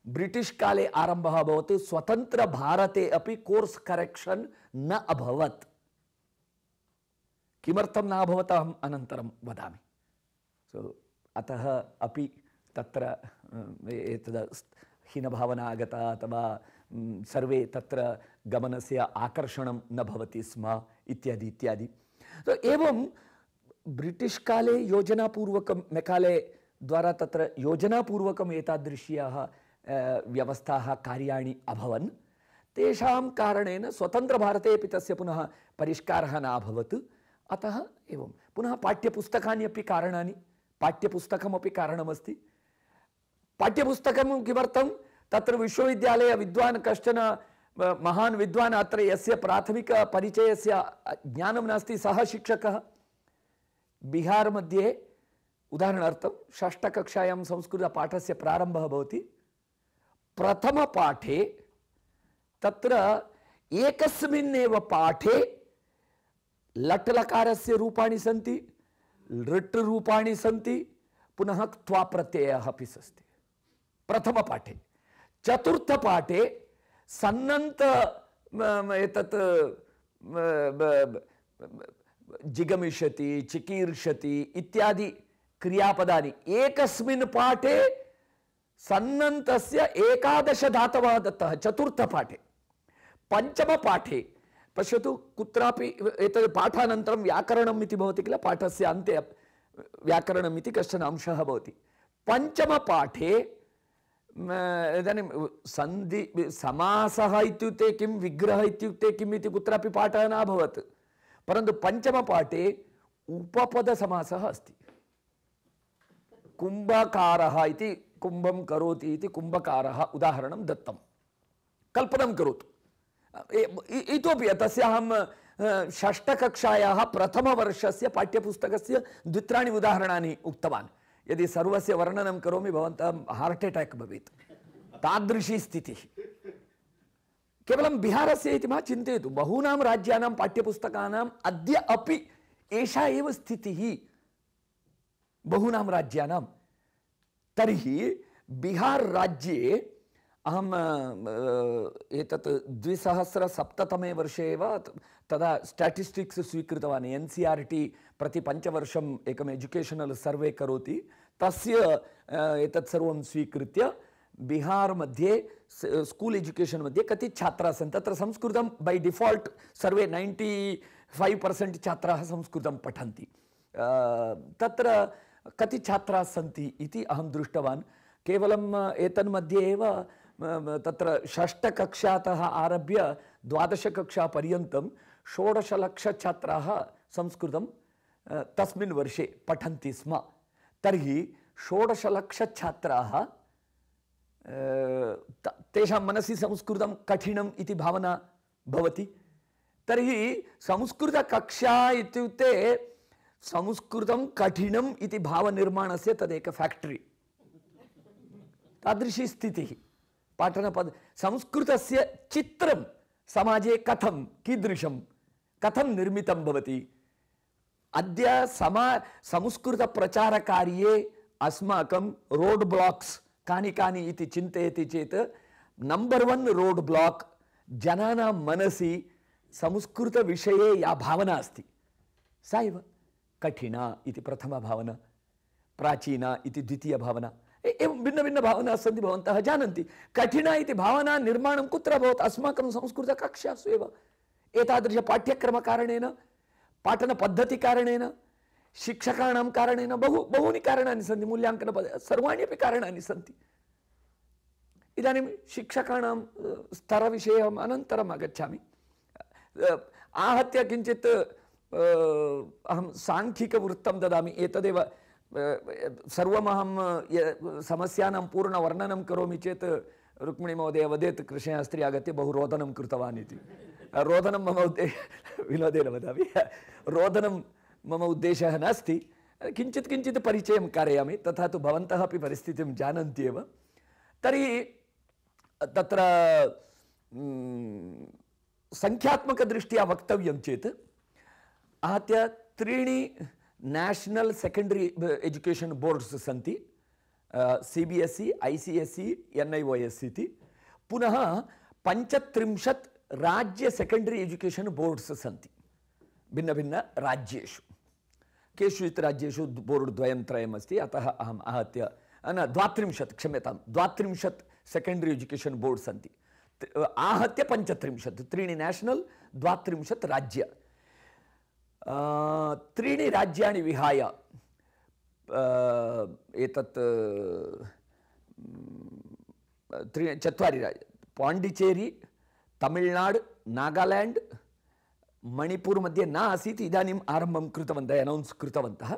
ब्रिटिश काले आरम्भः अभवत्, स्वतंत्र भारते अपि कोर्स करेक्शन न अभवत्। किमर्थं न अभवत् अहम् अनन्तरं वदामि। सो अतः अपि तत्र एतद् हीनभावना आगता, अथवा सर्वे तत्र गमनस्य आकर्षणं न भवति स्म इत्यादि इत्यादि। तो एवं ब्रिटिश काले योजनापूर्वकं, मेकाले द्वारा तत्र योजनापूर्वकम् एतादृश्याः व्यवस्थाः कार्याणि अभवन्। तेषां कारणेन स्वतन्त्रभारते अपि तस्य पुनः परिष्कारः न अभवत्। अतः एवं पुनः पाठ्यपुस्तकानि अपि कारणानि, पाठ्यपुस्तकमपि कारणमस्ति। पाठ्यपुस्तकं किमर्थं? तत्र विश्वविद्यालये विद्वान् कश्चन महान् विद्वान् अत्र यस्य प्राथमिक परिचयस्य ज्ञानं नास्ति, सः शिक्षकः बिहार मध्ये उदाहरणार्थं षष्ठकक्षायां संस्कृतपाठस्य प्रारम्भः भवति। प्रथमपाठे तत्र एकस्मिन्नेव पाठे लट् लकारस्य रूपाणि सन्ति, लृट् रूपाणि सन्ति, पुनः त्वा प्रत्ययः अपि अस्ति प्रथमपाठे। चतुर्थपाठे सन्नन्त एतत् जिगमिष्यति, चिकीर्षति इत्यादि क्रियापदानि एकस्मिन् पाठे सन्नन्तस्य एकादश धातवः दत्तः चतुर्थपाठे। पञ्चमपाठे पश्यतु, कुत्रापि एतत् पाठानन्तरं व्याकरणम् इति भवति किल, पाठस्य अन्ते व्याकरणम् इति कश्चन अंशः भवति। पञ्चमपाठे इदानीं सन्धि समासः इत्युक्ते किं, विग्रहः इत्युक्ते किम् इति कुत्रापि पाठः न अभवत्, परन्तु पञ्चमपाठे उपपदसमासः अस्ति। कुम्भकारः इति कुम्भं करोति इति कुम्भकारः उदाहरणं दत्तं, कल्पनं करोतु। इतोपि तस्य अहं षष्ठकक्षायाः प्रथमवर्षस्य पाठ्यपुस्तकस्य द्वित्राणि उदाहरणानि उक्तवान्। यदि सर्वस्य वर्णनं करोमि भवन्तः हार्ट् अटैक् भवेत्, तादृशी स्थितिः। केवलं बिहारस्य इति मा चिन्तयतु, बहूनां राज्यानां पाठ्यपुस्तकानाम् अद्य अपि एषा एव स्थितिः बहूनां राज्यानां। तर्हि बिहार राज्ये अहम् एतत् द्विसहस्रसप्ततमे वर्षे एव तदा स्टाटिस्टिक्स् स्वीकृतवान्। एन् सी आर् टी प्रति पञ्चवर्षम् एकम् एजुकेशनल् सर्वे करोति, तस्य एतत् सर्वं स्वीकृत्य बिहार मध्ये स्कूल् एजुकेशन् मध्ये कति छात्राः सन्ति, तत्र संस्कृतं बै डिफाल्ट् सर्वे नैन्टि फैव् पर्सेण्ट् छात्राः संस्कृतं पठन्ति। तत्र कति छात्राः सन्ति इति अहं दृष्टवान्। केवलम् एतन्मध्ये एव तत्र षष्ठकक्षातः आरभ्य द्वादशकक्षापर्यन्तं षोडशलक्षछात्राः संस्कृतं तस्मिन् वर्षे पठन्ति स्म। तर्हि षोडशलक्षछात्राः तेषां मनसि संस्कृतं कठिनम् इति भावना भवति। तर्हि संस्कृतकक्षा इत्युक्ते संस्कृतं कठिनम् इति भावनिर्माणस्य तदेक फैक्टरी, तादृशी स्थितिः। पाठनपद संस्कृतस्य चित्रं समाजे कथं कीदृशं कथं निर्मितं भवति। अद्य समा संस्कृतप्रचारकार्ये अस्माकं रोड ब्लॉक्स कानि कानि इति चिन्तयति चेत् नंबर वन रोड ब्लॉक जनानां मनसि संस्कृतविषये या भावना अस्ति सा एव कठिना इति प्रथमा भावना, प्राचीना इति द्वितीय भावना, एवं भिन्न भिन्न भावनाः सन्ति। भवन्तः जानन्ति कठिना इति भावना निर्माणं कुत्र अभवत्? अस्माकं संस्कृतकक्षासु एव। एतादृश पाठ्यक्रमकारणेन, पाठनपद्धतिकारणेन, शिक्षकाणां कारणेन बहु बहूनि कारणानि सन्ति, मूल्याङ्कन सर्वाणि अपि कारणानि सन्ति। इदानीं शिक्षकाणां स्तरविषये अहम् अनन्तरम् आगच्छामि। आहत्य किञ्चित् अहं साङ्ख्यिकवृत्तं ददामि। एतदेव सर्वमहं समस्यानां पूर्णवर्णनं करोमि चेत् रुक्मिणी महोदय वदेत् कृष्णशास्त्री आगत्य बहु रोदनं कृतवान् इति। रोदनं मम उद्देशः विनोदेन वदामि, रोदनं मम उद्देशः नास्ति, किञ्चित् किञ्चित् परिचयं कारयामि, तथा तु भवन्तः अपि परिस्थितिं जानन्ति एव। तर्हि तत्र संख्यात्मकदृष्ट्या वक्तव्यं चेत् आहत्य त्रीणि नेशनल सेकेंडरी एजुकेशन बोर्ड्स सन्ति, C B S E, I C S E, N I O S इति। पुनः पञ्चत्रिंशत् राज्य सेकेंडरी एजुकेशन बोर्ड्स सन्ति भिन्न भिन्न राज्येषु। केषुचित् राज्येषु बोर्ड द्वयं त्रयम् अस्ति, अतः अहम् आहत्य न द्वात्रिंशत् क्षम्यतां द्वात्रिंशत् सेकेंडरी एजुकेशन बोर्ड सन्ति। आहत्य पञ्चत्रिंशत्, त्रीणि नेशनल, द्वात्रिंशत् राज्य। त्रीणि राज्यानि विहाय एतत् त्रीणि चत्वारि राज्य, पाण्डिचेरी, तमिळ्नाडु, नागालैंड, मणिपुर मध्ये न आसीत्, इदानीम् आरम्भं कृतवन्तः, अनौन्स् कृतवन्तः।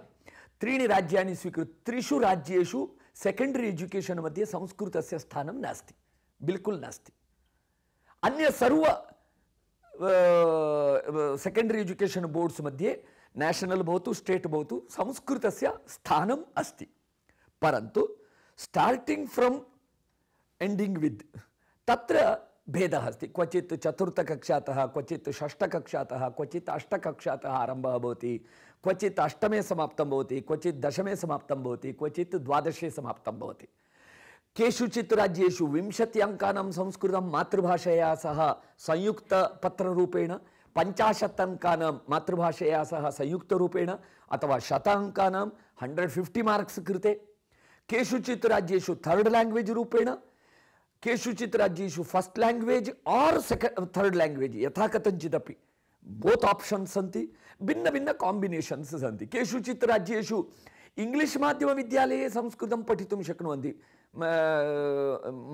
त्रीणि राज्यानि स्वीकृत्य त्रिषु राज्येषु सेकेंडरी एजुकेशन मध्ये संस्कृतस्य स्थानं नास्ति, बिल्कुल नास्ति। अन्य सर्व सेकेंडरी एजुकेशन बोर्ड्स मध्ये नेशनल भवतु स्टेट भवतु संस्कृतस्य स्थानम् अस्ति, परन्तु स्टार्टिंग फ्रॉम एंडिंग विद तत्र भेदः अस्ति। क्वचित् चतुर्थकक्षातः, क्वचित् षष्ठकक्षातः, क्वचित् अष्टकक्षातः आरम्भः भवति, क्वचित् अष्टमे समाप्तं भवति, क्वचित् दशमे समाप्तं भवति, क्वचित् द्वादशे समाप्तं भवति। केषुचित् राज्येषु विंशति अंकानां संस्कृतं मातृभाषया सह संयुक्तपत्ररूपेण, पञ्चाशत् अंकानां मातृभाषया सह संयुक्तरूपेण अथवा शत अंकानां हंड्रेड फिफ्टी मार्क्स कृते, केषुचित् राज्येषु थर्ड लैंग्वेज रूपेण, केषुचित् राज्येषु फर्स्ट लैंग्वेज और सेकंड थर्ड लैंग्वेज यथा कथंचिदपि बोथ ऑप्शन्स सन्ति, भिन्न भिन्न कॉम्बिनेशन्स सन्ति। केषुचित् राज्येषु इंग्लिश माध्यम विद्यालये संस्कृतं पठितुं शक्नुवन्ति,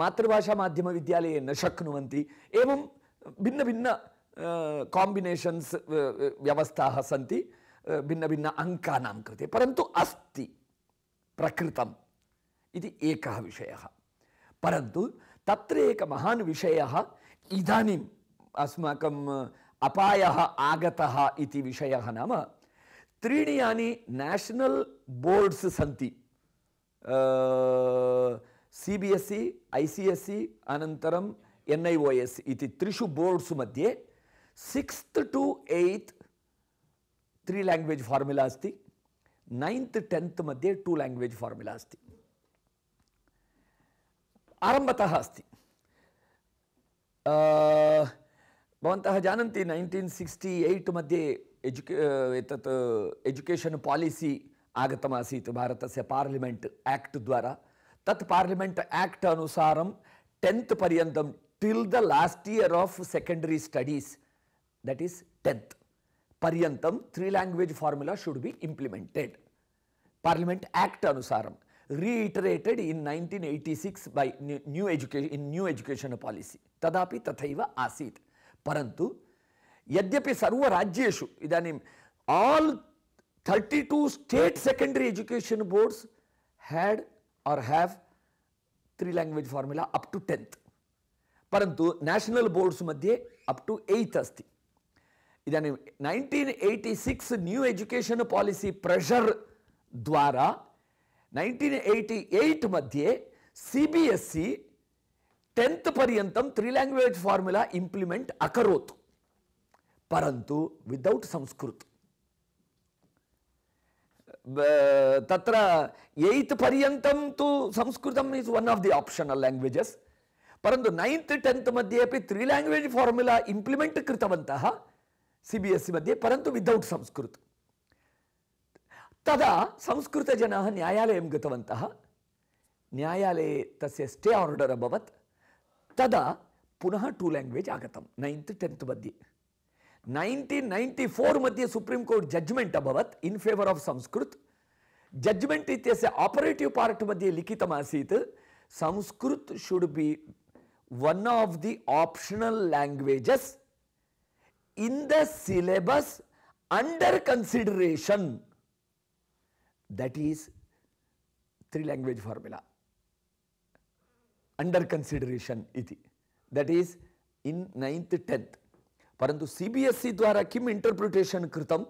मातृभाषा माध्यम विद्यालये न शक्नुवन्ति, एवं भिन्न भिन्न कॉम्बिनेशन्स व्यवस्थाः सन्ति भिन्न भिन्न अंकानां कृते, परन्तु अस्ति प्रकृतम् इति एकः विषयः। परन्तु तत्र एक महान् विषयः इदानीम् अस्माकम् अपायः आगतः इति विषयः, नाम त्रीणि यानि नेशनल बोर्ड्स सन्ति, सीबीएसई, आईसीएसई अनन्तरं एनआईओएस इति त्रिषु बोर्ड्स मध्ये sixth to eighth three language formula अस्ति, नाइन्थ टेन्थ मध्ये टू लैंग्वेज फॉर्मुला अस्ति, आरम्भतः अस्ति। भवन्तः जानन्ति नाइन्टीन् सिक्स्टी एय्ट् मध्ये एजुके एतत् एजुकेशन पॉलिसी आगतमासीत् भारतस्य पार्लिमेंट एक्ट द्वारा। तत् पार्लिमेंट एक्ट अनुसारं टेन्थ पर्यन्तं till the last year of secondary studies, that is tenth पर्यन्तं three language formula should be implemented. Parliament Act अनुसारं reiterated in nineteen eighty-six by new education in new education policy, तदापि तथैव आसीत्। परन्तु यद्यपि सर्व राज्येषु इदानीं all thirty-two state secondary education boards had or have three language formula up to tenth, परन्तु national boards मध्ये up to eighth अस्ति। इदानीं nineteen eighty six new education policy pressure द्वारा नाइन्टीन् एय्टी एय्ट् मध्ये सीबीएसई टेन्थ पर्यन्तं थ्री लैंग्वेज फॉर्मुला इंप्लिमेंट अकरोत्, परन्तु विदाउट संस्कृत। तत्र एय्त् पर्यन्तं तु संस्कृतम् is one of the optional languages, परन्तु नाइन्थ टेन्थ मध्ये अपि थ्री लैंग्वेज फॉर्मुला इंप्लिमेंट कृतवन्तः सीबीएसई मध्ये, परन्तु विदाउट संस्कृत। तदा संस्कृतजनाः न्यायालयं गतवन्तः, न्यायालये तस्य स्टे ऑर्डर अभवत्, तदा पुनः टू लैंग्वेज आगतं नाइन्थ टेन्थ मध्ये। नाइन्टीन् नैन्टी फोर् मध्ये सुप्रीम कोर्ट जड्जमेंट अभवत् in favour of Sanskrit. Judgement इत्यस्य ऑपरेटिव पार्ट मध्ये लिखितमासीत् Sanskrit should be one of the optional languages in the syllabus under consideration, that is three language formula under consideration iti, that is in ninth tenth। परंतु सीबीएसई द्वारा किम इंटरप्रिटेशन कृतम,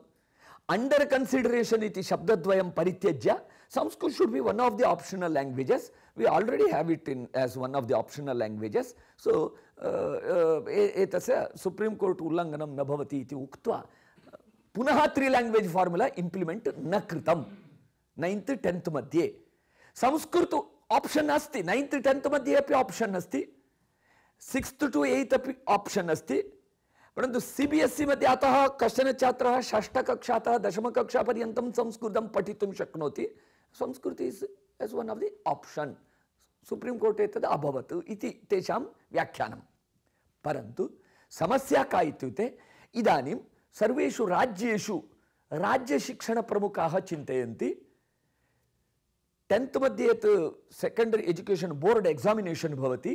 अंडर कंसिडरेशन इति शब्दद्वयं परित्यज्य Sanskrit should be one of the optional languages, we already have it in as one of the optional languages, so एतस्य सुप्रीम कोर्ट उल्लंघनं न भवति इति उक्त्वा पुनः थ्री लैंग्वेज फॉर्मुला इंप्लिमेंट न कृतं नाइन्थ टेन्थ मध्ये। संस्कृत ऑप्शन अस्ति, नाइन्थ टेन्थ मध्ये अपि ऑप्शन अस्ति, सिक्स्थ टू एय्थ अपि ऑप्शन अस्ति, परन्तु सीबीएसई मध्ये अतः कश्चन छात्रः षष्ठकक्षातः दशमकक्षापर्यन्तं संस्कृतं पठितुं शक्नोति, Sanskrit is as one of the option, supreme court एतद् अभवत् इति तेषां व्याख्यानं। परन्तु समस्या का इत्युक्ते इदानीं सर्वेषु राज्येषु राज्यशिक्षणप्रमुखाः चिन्तयन्ति टेन्थ मध्ये यत् सेकेंडरी एजुकेशन बोर्ड एग्जामिनेशन भवति,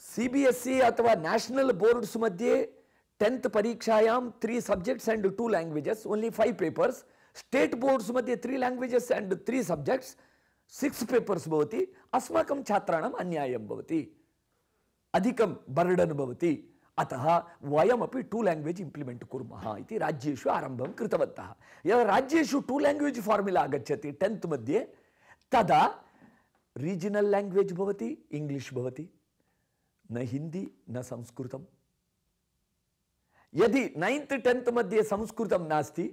सीबीएसई अथवा नेशनल बोर्ड्स मध्ये टेन्थ परीक्षायां three subjects and two languages only five papers, state boards मध्ये three languages and three subjects six papers भवति, अस्माकं छात्राणाम् अन्यायं भवति, अधिकं बर्डन भवति, अतः वयमपि टू लैंग्वेज इम्प्लिमेंट कुर्मः इति राज्येषु आरम्भं कृतवन्तः। यदा राज्येषु टू लैंग्वेज फार्मुला आगच्छति टेन्त् मध्ये तदा रीजनल लैंग्वेज भवति, इंग्लिश भवति, न हिंदी न संस्कृतम। यदि नाइन्थ टेन्थ मध्ये संस्कृतं नास्ति,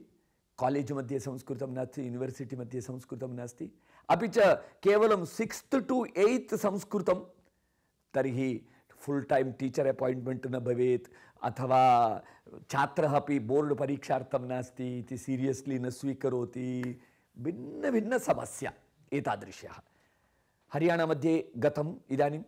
कॉलेज मध्ये संस्कृतं नास्ति, यूनिवर्सिटी मध्ये संस्कृतं नास्ति, अपि च केवलं सिक्स्थ टू एय्थ संस्कृतं, तर्हि फुल टाइम टीचर अपॉइंटमेंट न भवेत्, अथवा छात्रः अपि बोर्ड परीक्षार्थं नास्ति इति सीरियस्ली न स्वीकरोति। भिन्न भिन्न समस्या एतादृश्यः। हरियाणा मध्ये गतम्, इदानीम्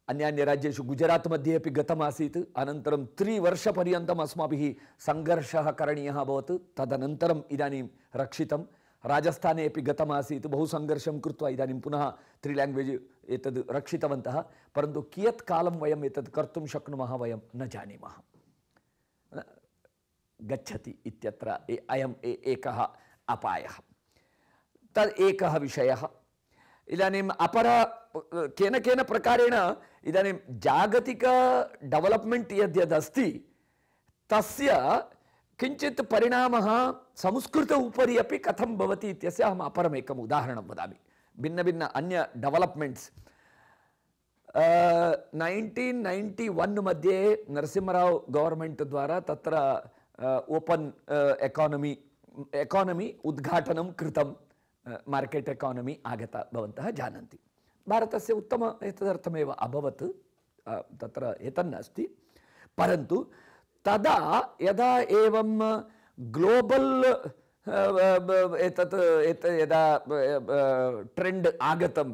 अन्यान्य राज्येषु गुजरात मध्ये अपि गतम् आसीत्। अनन्तरं त्रिवर्षपर्यन्तम् अस्माभिः सङ्घर्षः करणीयः अभवत्, तदनन्तरम् इदानीं रक्षितं। राजस्थाने अपि गतम् आसीत्, बहु सङ्घर्षं कृत्वा इदानीं पुनः त्री लैंग्वेज एतद् रक्षितवन्तः। परन्तु कियत् कालं वयम् एतद् कर्तुं शक्नुमः वयं न जानीमः। गच्छति इत्यत्र अयम् एकः अपायः। तद् एकः विषयः। इदानीम् अपर केन केन प्रकारेण इदानीं जागतिक डेवलपमेंट यद्यदस्ति तस्य किंचित् परिणामः संस्कृत उपरि अपि कथं भवति इत्यस्य अहम् अपरमेकम् उदाहरणं वदामि। भिन्न भिन्न अन्य डेवलपमेंट्स् नैन्टीन् नैन्टी वन् मध्ये नरसिंहराव गवर्नमेंट द्वारा तत्र ओपन एकानमी एकानमी उद्घाटनं कृतं। मार्केट एकानमी आगता, भवन्तः जानन्ति। भारतस्य उत्तम एतदर्थमेव अभवत्, तत्र एतन्नास्ति। परन्तु तदा यदा एवं ग्लोबल एतत् एत यदा ट्रेंड आगतं,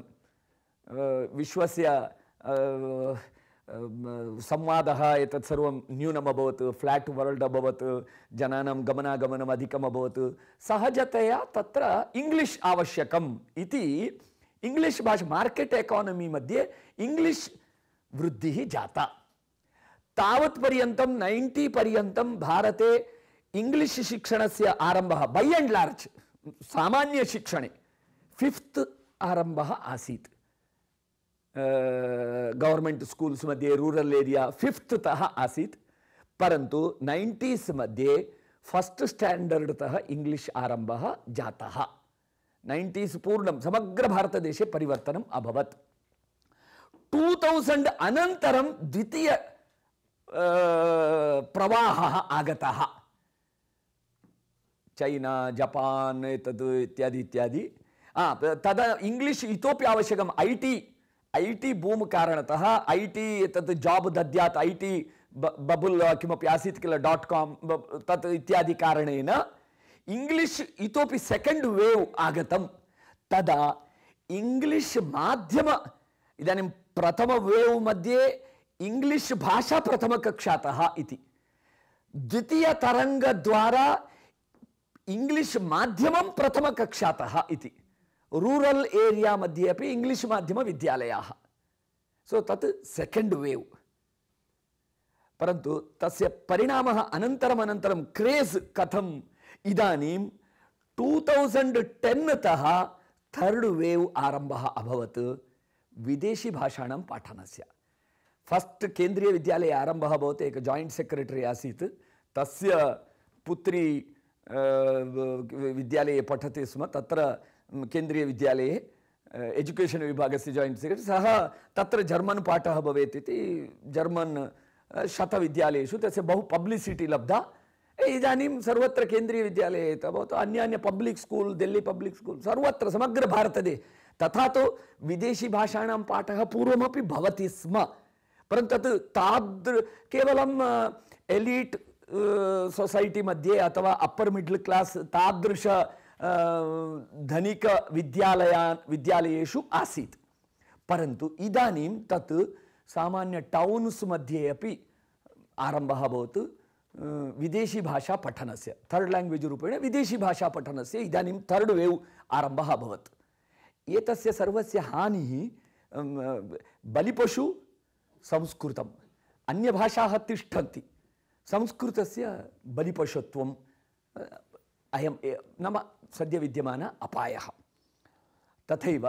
विश्वस्य संवादः एतत् सर्वं न्यूनम् अभवत्, फ्लैट वर्ल्ड अभवत्, जनानां गमनागमनम् अधिकम् अभवत्। सहजतया तत्र इंग्लिश आवश्यकम् इति इंग्लिश भाषा मार्केट एकानमी मध्ये इंग्लिश वृद्धिः जाता। तावत् पर्यन्तं नैन्टी पर्यन्तं भारते इंग्लिश शिक्षणस्य आरम्भः बै एंड लार्ज सामान्य शिक्षणे फिफ्थ आरम्भः आसीत्। गवर्नमेंट स्कूल्स मध्ये रूरल एरिया फिफ्थ तः आसीत्। परन्तु नैन्टीस् मध्ये फर्स्ट स्टैंडर्ड तः इंग्लिश आरम्भः जातः। नैन्टीस् पूर्णं समग्र भारतदेशे परिवर्तनम् अभवत्। टू थाउजेंड अनन्तरं द्वितीय प्रवाहः आगतः। चैना, जापान एतद् इत्यादि इत्यादि। तदा इंग्लिश इतोपि आवश्यकम्। ऐटी ऐटी बूम कारणतः ऐटी एतत् जॉब दद्यात्, ऐटी बबुल किमपि आसीत् किल, डॉट कॉम तत् इत्यादि कारणेन इंग्लिश इतोपि सेकेंड वेव आगतं। तदा इंग्लिश माध्यम इदानीं प्रथम वेव मध्ये इंग्लिश भाषा प्रथम कक्षातः इति, द्वितीय तरंग द्वारा इंग्लिश माध्यमं प्रथम कक्षातः इति, रूरल एरिया मध्ये अपि इंग्लिश माध्यम विद्यालयाः। सो तत् सेकेंड वेव। परन्तु तस्य परिणामः अनन्तरम् अनन्तरं क्रेज कथम्, इदानीं टू थाउजेंड टेन तः थर्ड वेव आरम्भः अभवत् विदेशी भाषाणां पाठनस्य। फर्स्ट केंद्रीय विद्यालये आरम्भः अभवत्। एक जॉइंट सेक्रेटरी आसीत्, तस्य पुत्री विद्यालये पठति स्म। तत्र केंद्रीय विद्यालये एजुकेशन विभागस्य जॉइंट सेक्रेटरी, सः तत्र जर्मन पाठः भवेत् इति जर्मन शत विद्यालयेषु तस्य बहु पब्लिसिटी लब्धा। इदानीं सर्वत्र केंद्रीय विद्यालये भवतु, अन्यान्य public school, Delhi public school, सर्वत्र समग्र भारतदे तथा तो विदेशी भाषाणां पाठः पूर्वमपि भवति स्म। परन्तु तत् तादृ केवलं एलीट सोसाइटी मध्ये अथवा अप्पर मिडल क्लास तादृश धनिक विद्यालयान् विद्यालयेषु आसीत्। परन्तु इदानीं तत् सामान्य टाउन्स् मध्ये अपि आरम्भः अभवत् विदेशी भाषा पठनस्य। थर्ड लैंग्वेज रूपेण विदेशी भाषा पठनस्य इदानीं थर्ड वेव आरम्भः अभवत्। एतस्य सर्वस्य हानिः बलिपशु संस्कृतम्। अन्य भाषाः तिष्ठन्ति, संस्कृतस्य बलिपशुत्वम् अयं नाम सद्य विद्यमान अपायः। तथैव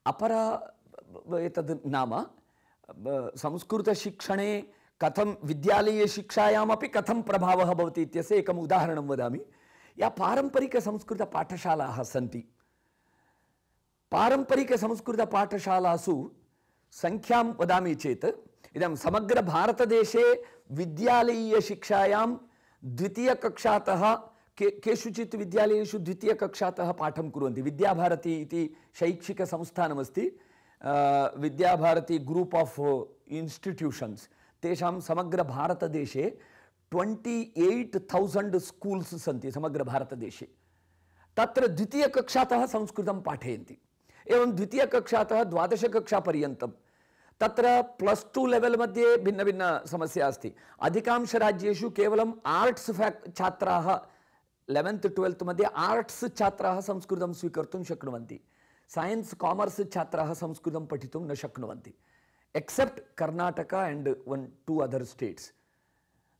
अपर एतद् नाम संस्कृतशिक्षणे कथं विद्यालयशिक्षायामपि कथं प्रभावः भवति इत्यस्य एकम् उदाहरणं वदामि। या पारम्परिकसंस्कृतपाठशालाः सन्ति, पारम्परिकसंस्कृतपाठशालासु संख्यां वदामि चेत् इदं समग्रभारतदेशे विद्यालयीयशिक्षायां द्वितीयकक्षातः के केषुचित् विद्यालयेषु द्वितीयकक्षातः पाठं कुर्वन्ति। विद्याभारती इति शैक्षिकसंस्थानमस्ति, विद्याभारती ग्रूप् आफ् इन्स्टिट्यूशन्स्, तेषां समग्रभारतदेशे ट्वेण्टि एय्ट् थौसण्ड् स्कूल्स् सन्ति समग्रभारतदेशे। तत्र द्वितीयकक्षातः संस्कृतं पाठयन्ति। एवं द्वितीयकक्षातः द्वादशकक्षापर्यन्तं तत्र प्लस् टू लेवल् मध्ये भिन्न भिन्न समस्या अस्ति। अधिकांशराज्येषु केवलम् आर्ट्स् फैक् छात्राः लेवेन्त् ट्वेल्त् मध्ये आर्ट्स् छात्राः संस्कृतं स्वीकर्तुं शक्नुवन्ति। सैन्स् कामर्स् छात्राः संस्कृतं पठितुं न शक्नुवन्ति, except Karnataka and one two other states.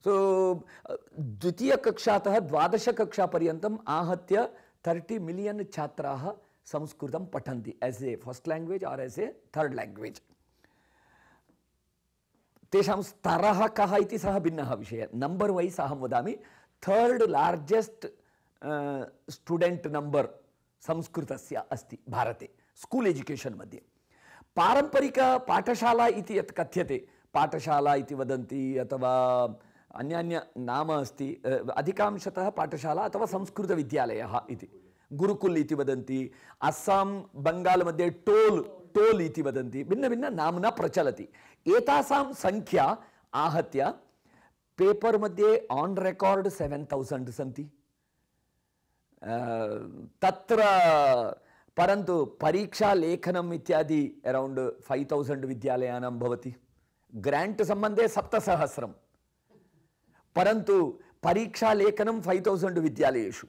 So द्वितीयकक्षातः द्वादशकक्षापर्यन्तम् आहत्य थर्टी मिलियन छात्राः संस्कृतं पठन्ति एस् ए फस्ट् लैंग्वेज और एस् ए थर्ड लैंग्वेज। तेषां स्तरः कः इति सः भिन्नः विषयः। नंबर वाइज अहं वदामि, थर्ड लार्जेस्ट स्टूडेंट नंबर संस्कृतस्य अस्ति भारते स्कूल एजुकेशन मध्ये। पारंपरिक पाठशाला इति यत् कथ्यते, पाठशाला इति वदन्ति अथवा अन्यान्य नाम अस्ति, अधिकांशतः पाठशाला अथवा संस्कृतविद्यालयः इति, गुरुकुल इति वदन्ति, अस्सां बंगाल मध्ये टोल टोल इति वदन्ति, भिन्न भिन्न नाम्ना प्रचलति। एतासां संख्या आहत्य पेपर मध्ये ऑन रेकॉर्ड सेवन थाउजेंड सन्ति। तत्र परन्तु परीक्षा लेखनम् इत्यादि अराउंड फाइव थाउजेंड विद्यालयानां भवति। ग्रांट संबंधे सप्तसहस्रं, परन्तु परीक्षा लेखनं फाइव थाउजेंड विद्यालयेषु।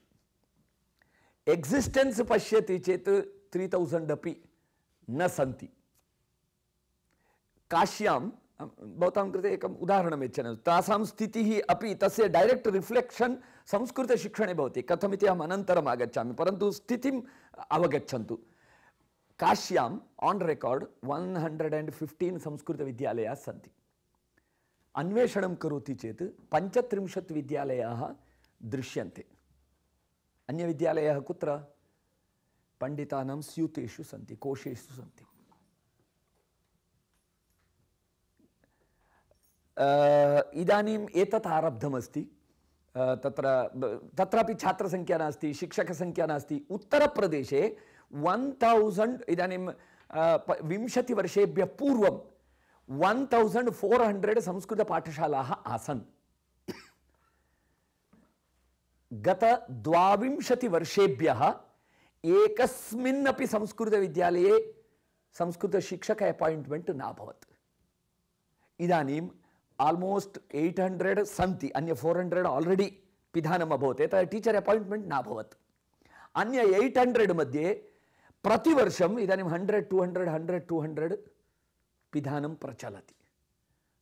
एक्सिस्टेंस पश्यति चेत् थ्री थाउजेंड अपि न सन्ति। काश्यां भवतां कृते एकम् उदाहरणं यच्छामि। तासां स्थितिः अपि तस्य डायरेक्ट रिफ्लेक्शन संस्कृतशिक्षणे भवति। कथमिति अहम् अनन्तरम् आगच्छामि, परन्तु स्थितिम् अवगच्छन्तु। काश्यां on record one hundred and fifteen संस्कृतविद्यालयाः सन्ति। अन्वेषणं करोति चेत् पञ्चत्रिंशत् विद्यालयाः दृश्यन्ते। अन्यविद्यालयाः कुत्र? पंडितानां स्यूतेषु सन्ति, कोशेषु सन्ति। इदानीम् एतत् आरब्धमस्ति। तत्र तत्रापि छात्रसंख्या नास्ति, शिक्षकसंख्या नास्ति। उत्तरप्रदेशे वन थाउजेंड इदानीं विंशतिवर्षेभ्यः पूर्वं वन थाउजेंड फोर हंड्रेड संस्कृतपाठशालाः आसन्। गत द्वाविंशतिवर्षेभ्यः एकस्मिन्नपि संस्कृतविद्यालये संस्कृतशिक्षक अपॉइंटमेंट नाभवत्। इदानीम् आल्मोस्ट एट हंड्रेड सन्ति, अन्य फोर हंड्रेड ऑलरेडी पिधानम् अभवत्। एतत् टीचर अपॉइंटमेंट नाभवत्। अन्य एट हंड्रेड मध्ये प्रतिवर्षम् इदानीं hundred two hundred hundred two hundred पिधानं प्रचलति।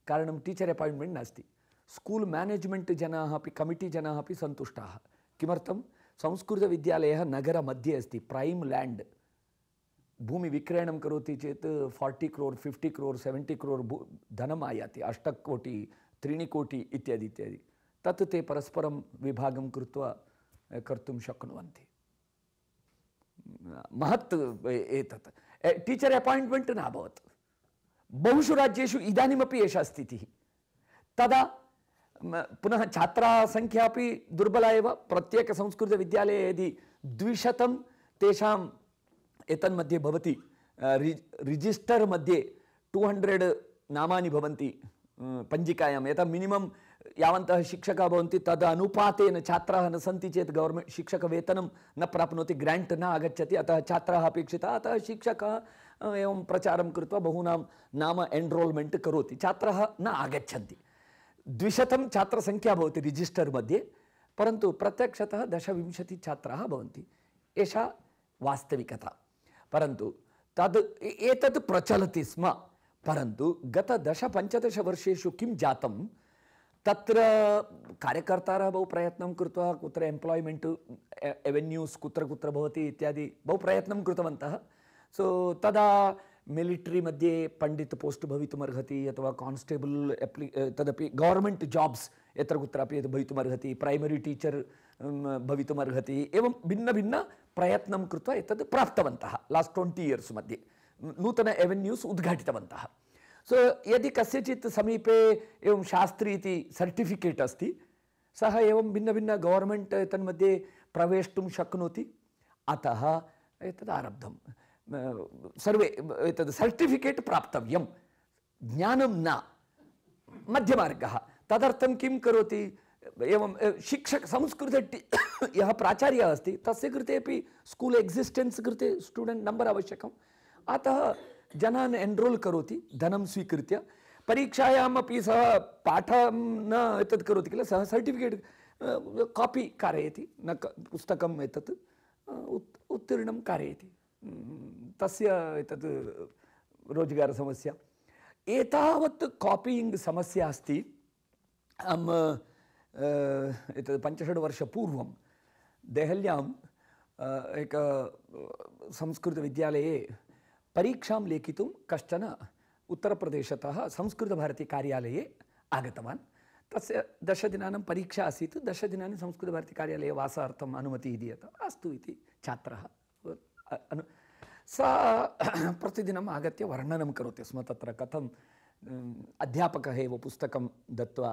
कारणं टीचर अपॉइंटमेंट नास्ति। स्कूल मैनेजमेंट जनाः अपि, कमिटी जनाः अपि सन्तुष्टाः। किमर्थं? संस्कृतविद्यालयः नगरमध्ये अस्ति, प्राइम लैंड। भूमि विक्रयणं करोति चेत् forty crore fifty crore seventy crore धनम् आयाति, अष्टकोटि त्रीणि कोटि इत्यादि इत्यादि। तत् ते परस्परं विभागं कृत्वा कर्तुं शक्नुवन्ति। महत् एतत् टीचर अपॉइंटमेंट नाभवत्। बहुषु राज्येषु इदानीमपि एषा स्थितिः। तदा पुनः छात्रासंख्या अपि दुर्बला एव। प्रत्येक संस्कृतविद्यालये यदि द्विशतं तेषां एतन्मध्ये भवति, रिजिस्टर् मध्ये टू हंड्रेड नामानि भवन्ति पञ्जिकायां। यथा मिनिमम यावन्तः शिक्षकाः भवन्ति तद् अनुपातेन छात्राः न सन्ति चेत् गवर्नमेंट शिक्षकवेतनं न प्राप्नोति, ग्रांट न आगच्छति। अतः छात्राः अपेक्षिताः। अतः शिक्षकः एवं प्रचारं कृत्वा बहूनां नाम एनरोलमेंट करोति, छात्राः न आगच्छन्ति। द्विशतं छात्रसंख्या भवति रिजिस्टर् मध्ये, परन्तु प्रत्यक्षतः दशविंशति छात्राः भवन्ति। एषा वास्तविकता। परन्तु तद् एतत् प्रचलति स्म। परन्तु गत दश पंचदश वर्षेषु किं जातं, तत्र कार्यकर्तारः बहु प्रयत्नं कृत्वा कुत्र एम्प्लॉयमेंट एवेन्यूस् कुत्र कुत्र भवति इत्यादि बहु प्रयत्नं कृतवन्तः। सो तदा मिलिटरी मध्ये पंडित पोस्ट भवितुमर्हति अथवा कांस्टेबल एप्लि तदपि गवर्नमेंट जॉब्स यत्र कुत्रापि यद् भवितुमर्हति, प्राइमरी टीचर भवितुमर्हति, एवं भिन्न भिन्न प्रयत्नं कृत्वा एतद् प्राप्तवन्तः लास्ट ट्वेंटी इयर्स मध्ये नूतन एवेन्यूस् उद्घाटितवन्तः। सो यदि कस्यचित् समीपे एवं शास्त्री इति सर्टिफिकेट अस्ति सः एवं भिन्न भिन्न गवर्नमेंट तन्मध्ये प्रवेष्टुं शक्नोति। अतः एतद् आरब्धं, सर्वे एतद् सर्टिफिकेट प्राप्तव्यं, ज्ञानं न, मध्यमार्गः। तदर्थं किं करोति, एवं शिक्षक संस्कृत यः प्राचार्यः अस्ति तस्य कृते अपि स्कूल एक्सिस्टेंस कृते स्टूडेंट नंबर आवश्यकम्। अतः जनान् एनरोल करोति धनं स्वीकृत्य। परीक्षायाम् अपि सः पाठं न एतत् करोति किल, सः सर्टिफिकेट कॉपी कारयति, न पुस्तकम् एतत् उत्तीर्णं कारयति। तस्य एतत् रोजगार समस्या। एतावत् कॉपीइंग समस्या अस्ति। अहम् एतत् पञ्चषड् वर्षपूर्वं देहल्याम् एक संस्कृतविद्यालये परीक्षां लेखितुं कश्चन उत्तरप्रदेशतः संस्कृतभारती कार्यालये आगतवान्। तस्य दशदिनानां परीक्षा आसीत्। दशदिनानि संस्कृतभारती कार्यालये वासार्थम् अनुमतिः दीयते। अस्तु इति छात्रः सा प्रतिदिनम् आगत्य वर्णनं करोति स्म, तत्र कथम् अध्यापकः एव पुस्तकं दत्वा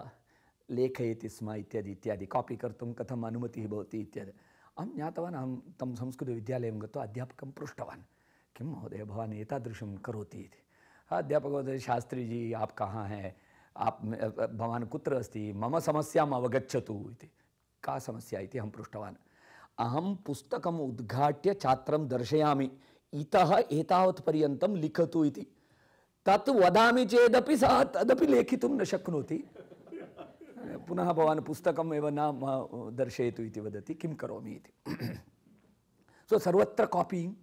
लेखयति स्म इत्यादि इत्यादि, कॉपी कर्तुं कथम् अनुमतिः भवति इत्यादि। अहं ज्ञातवान्। अहं तं संस्कृतविद्यालयं गत्वा अध्यापकं पृष्टवान्, किं महोदय भवान् एतादृशं करोति इति। अध्यापकः वदति, शास्त्री जी आप कहाँ हैं, आप भवान् कुत्र अस्ति, मम समस्याम् अवगच्छतु इति। का समस्या इति अहं पृष्टवान्। अहं पुस्तकम् उद्घाट्य छात्रं दर्शयामि, इतः एतावत् पर्यन्तं लिखतु इति। तत् वदामि चेदपि सः तदपि लेखितुं न शक्नोति। पुनः भवान् पुस्तकम् एव न दर्शयतु इति वदति, किं करोमि इति। सो सर्वत्र कॉपीइंग,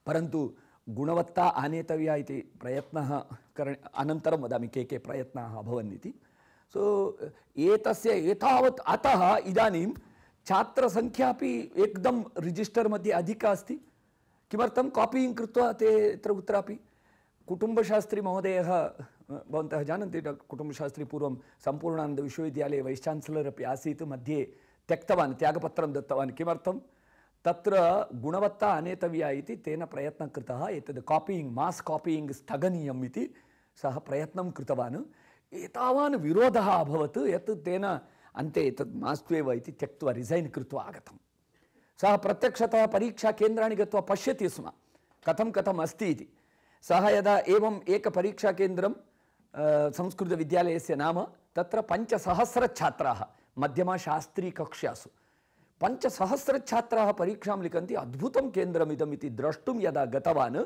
परन्तु गुणवत्ता आनेतव्या इति प्रयत्नः करण अनन्तरं वदामि के के प्रयत्नाः अभवन् इति। सो एतस्य एतावत्, अतः इदानीं छात्रसंख्या अपि एकदम रिजिस्टर् मध्ये अधिका अस्ति। किमर्थं, कॉपीइंग कृत्वा ते यत्र कुत्रापि। कुटुम्बशास्त्री महोदयः, भवन्तः जानन्ति, कुटुम्बशास्त्री पूर्वं सम्पूर्णानन्द विश्वविद्यालये वैस् चान्सलर् अपि आसीत्, मध्ये त्यक्तवान्, त्यागपत्रं दत्तवान्। किमर्थं, तत्र गुणवत्ता आनेतव्या इति तेन प्रयत्नः कृतः। एतद् कॉपीइंग, मास् कॉपीइंग स्थगनीयम् इति सः प्रयत्नं कृतवान्। एतावान् विरोधः अभवत् यत् तेन अन्ते एतद् मास्तु इति त्यक्त्वा रिसैन् कृत्वा आगतम्। सः प्रत्यक्षतः परीक्षाकेन्द्राणि गत्वा पश्यति स्म कथं कथम् अस्ति इति। सः यदा एवम् एक परीक्षाकेन्द्रं संस्कृतविद्यालयस्य नाम, तत्र पञ्चसहस्रछात्राः मध्यमा शास्त्री कक्षासु पञ्चसहस्रछात्राः परीक्षां लिखन्ति। अद्भुतं केन्द्रमिदम् इति द्रष्टुं यदा गतवान्,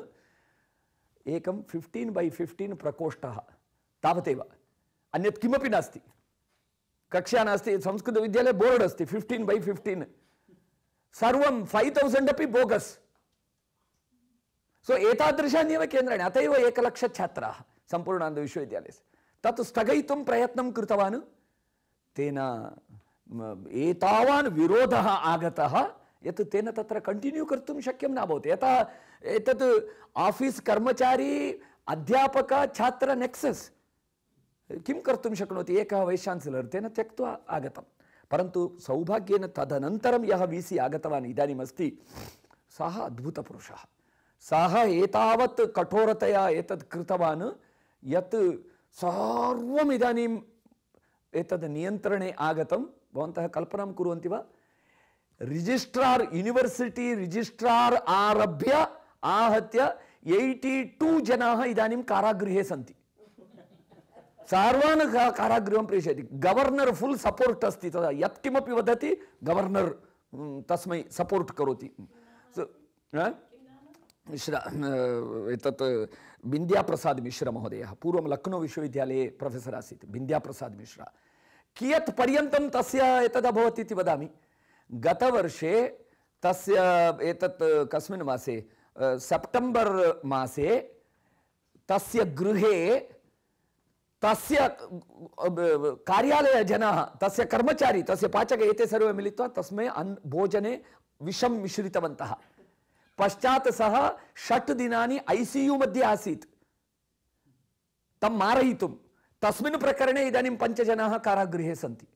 एकं फिफ्टीन् बै फिफ्टीन् प्रकोष्ठः तावदेव, अन्यत् किमपि नास्ति, कक्षा नास्ति। संस्कृतविद्यालये बोर्ड अस्ति फिफ्टीन् बै फिफ्टीन्, सर्वं फैव् तौसण्ड् अपि बोगस्। सो एतादृशानि एव केन्द्राणि। अत एव एकलक्षछात्राः सम्पूर्णानन्द विश्वविद्यालयस्य। तत् स्थगयितुं प्रयत्नं कृतवान्। तेन एतावान् विरोधः आगतः यत् तेन तत्र कंटिन्यू कर्तुं शक्यं न भवति। यतः एतत् आफीस् कर्मचारी अध्यापक छात्र नेक्सस् किं कर्तुं शक्नोति। एकः वैस् चान्सलर् तेन त्यक्त्वा आगतं। परन्तु सौभाग्येन तदनन्तरं यः वीसी आगतवान् इदानीम् अस्ति, सः अद्भुतपुरुषः। सः एतावत् कठोरतया एतत् कृतवान् यत् सर्वम् इदानीम् एतद् नियन्त्रणे आगतं। भवन्तः कल्पनां कुर्वन्ति वा, रिजिस्ट्रार्, यूनिवर्सिटी रिजिस्ट्रार् आरभ्य आहत्य एय्टि टु जनाः इदानीं कारागृहे सन्ति। सर्वान् कारागृहं प्रेषयति। गवर्नर् फुल् सपोर्ट् अस्ति। तदा यत्किमपि वदति गवर्नर् तस्मै सपोर्ट् करोति। मिश्रा, एतत् बिन्द्याप्रसाद् मिश्रा महोदयः, पूर्वं लक्नो विश्वविद्यालये प्रोफेसर् आसीत्। बिन्द्याप्रसाद् मिश्रा, कियत् पर्यन्तं तस्य एतद् अभवत् इति वदामि। गतवर्षे तस्य एतत् कस्मिन् मासे, सेप्टेम्बर् मासे तस्य गृहे तस्य कार्यालयजनाः, तस्य कर्मचारी, तस्य पाचक, एते सर्वे मिलित्वा तस्मै अन् भोजने विषं मिश्रितवन्तः। पश्चात् सः षट् दिनानि ऐ सि यु मध्ये आसीत् तं मारयितुं। तस्मिन् प्रकरणे इदानीं पञ्चजनाः कारागृहे सन्ति।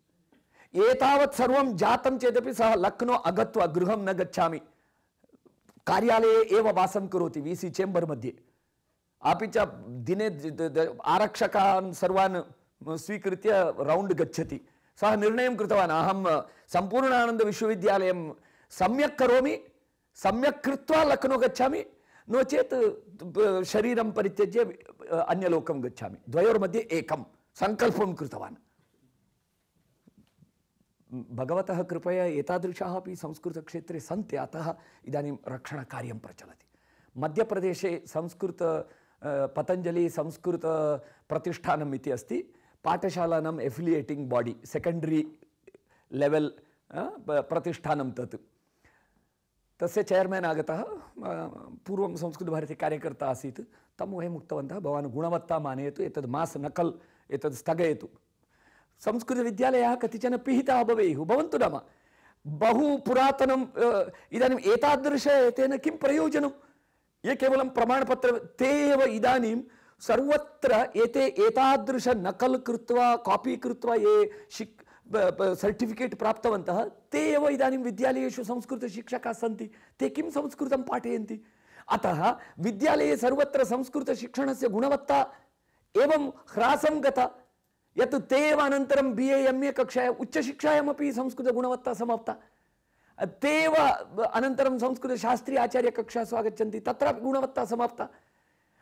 एतावत् सर्वं जातं चेदपि सः लक्नो अगत्वा गृहं न गच्छामि, कार्यालये एव वासं करोति वी सी चेम्बर् मध्ये। अपि च दिने आरक्षकान् सर्वान् स्वीकृत्य रौण्ड् गच्छति। सः निर्णयं कृतवान्, अहं सम्पूर्णानन्दविश्वविद्यालयं सम्यक् करोमि, सम्यक् कृत्वा लक्नो गच्छामि, नो चेत् शरीरं परित्यज्य अन्यलोकं गच्छामि। द्वयोर्मध्ये एकं सङ्कल्पं कृतवान्। भगवतः कृपया एतादृशाः अपि संस्कृतक्षेत्रे सन्ति, अतः इदानीं रक्षणकार्यं प्रचलति। मध्यप्रदेशे संस्कृत पतञ्जलि संस्कृत प्रतिष्ठानम् इति अस्ति, पाठशालानाम् एफिलियेटिंग बॉडी, सेकेंडरी लेवल प्रतिष्ठानं तत्। तस्य चेयरमैन आगतः, पूर्वं संस्कृतभारती कार्यकर्ता आसीत्, तं वयम् उक्तवन्तः भवान् गुणवत्ताम् आनयतु, एतद् मास् नकल् एतद् स्थगयतु। संस्कृतविद्यालयाः कतिचन पिहिताः भवेयुः, भवन्तु नाम बहु पुरातनम्, इदानीम् एतादृश एतेन किं प्रयोजनं? ये केवलं प्रमाणपत्र, ते एव इदानीं सर्वत्र एते एतादृश नकल कृत्वा कॉपी कृत्वा ये शिक् सर्टिफिकेट प्राप्तवन्तः, ते एव इदानीं विद्यालयेषु संस्कृतशिक्षकाः सन्ति। ते किं संस्कृतं पाठयन्ति? अतः विद्यालये सर्वत्र संस्कृतशिक्षणस्य गुणवत्ता एवं ह्रासं गता, यत् ते एव अनन्तरं बी ए एम् ए कक्षायाम् उच्चशिक्षायामपि संस्कृतगुणवत्ता समाप्ता। ते एव अनन्तरं संस्कृतशास्त्री आचार्यकक्षासु आगच्छन्ति, तत्रापि गुणवत्ता समाप्ता।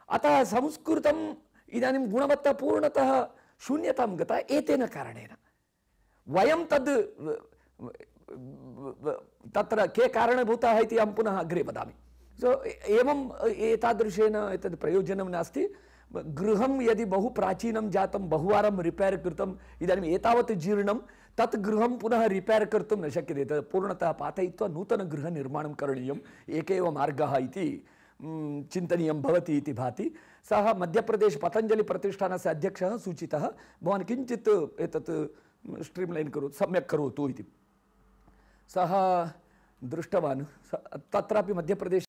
अतः संस्कृतम् इदानीं गुणवत्ता पूर्णतः शून्यतां गता। एतेन कारणेन वयं तद् तत्र के कारणभूताः इति अहं पुनः अग्रे वदामि। सो एवम् एतादृशेन एतद् प्रयोजनं नास्ति। गृहं यदि बहु प्राचीनं जातं, बहुवारं रिपेर् कृतम्, इदानीम् एतावत् जीर्णं, तत् गृहं पुनः रिपेर् कर्तुं न शक्यते। तत् पूर्णतः पातयित्वा नूतनगृहनिर्माणं करणीयम्, एकैव मार्गः इति चिन्तनीयं भवति इति भाति। सः मध्यप्रदेश पतञ्जलि प्रतिष्ठानस्य अध्यक्षः सूचितः, भवान् किञ्चित् एतत् स्ट्रीम्लैन् करोतु, सम्यक् करोतु इति। सः दृष्टवान्, तत्रापि मध्यप्रदेशे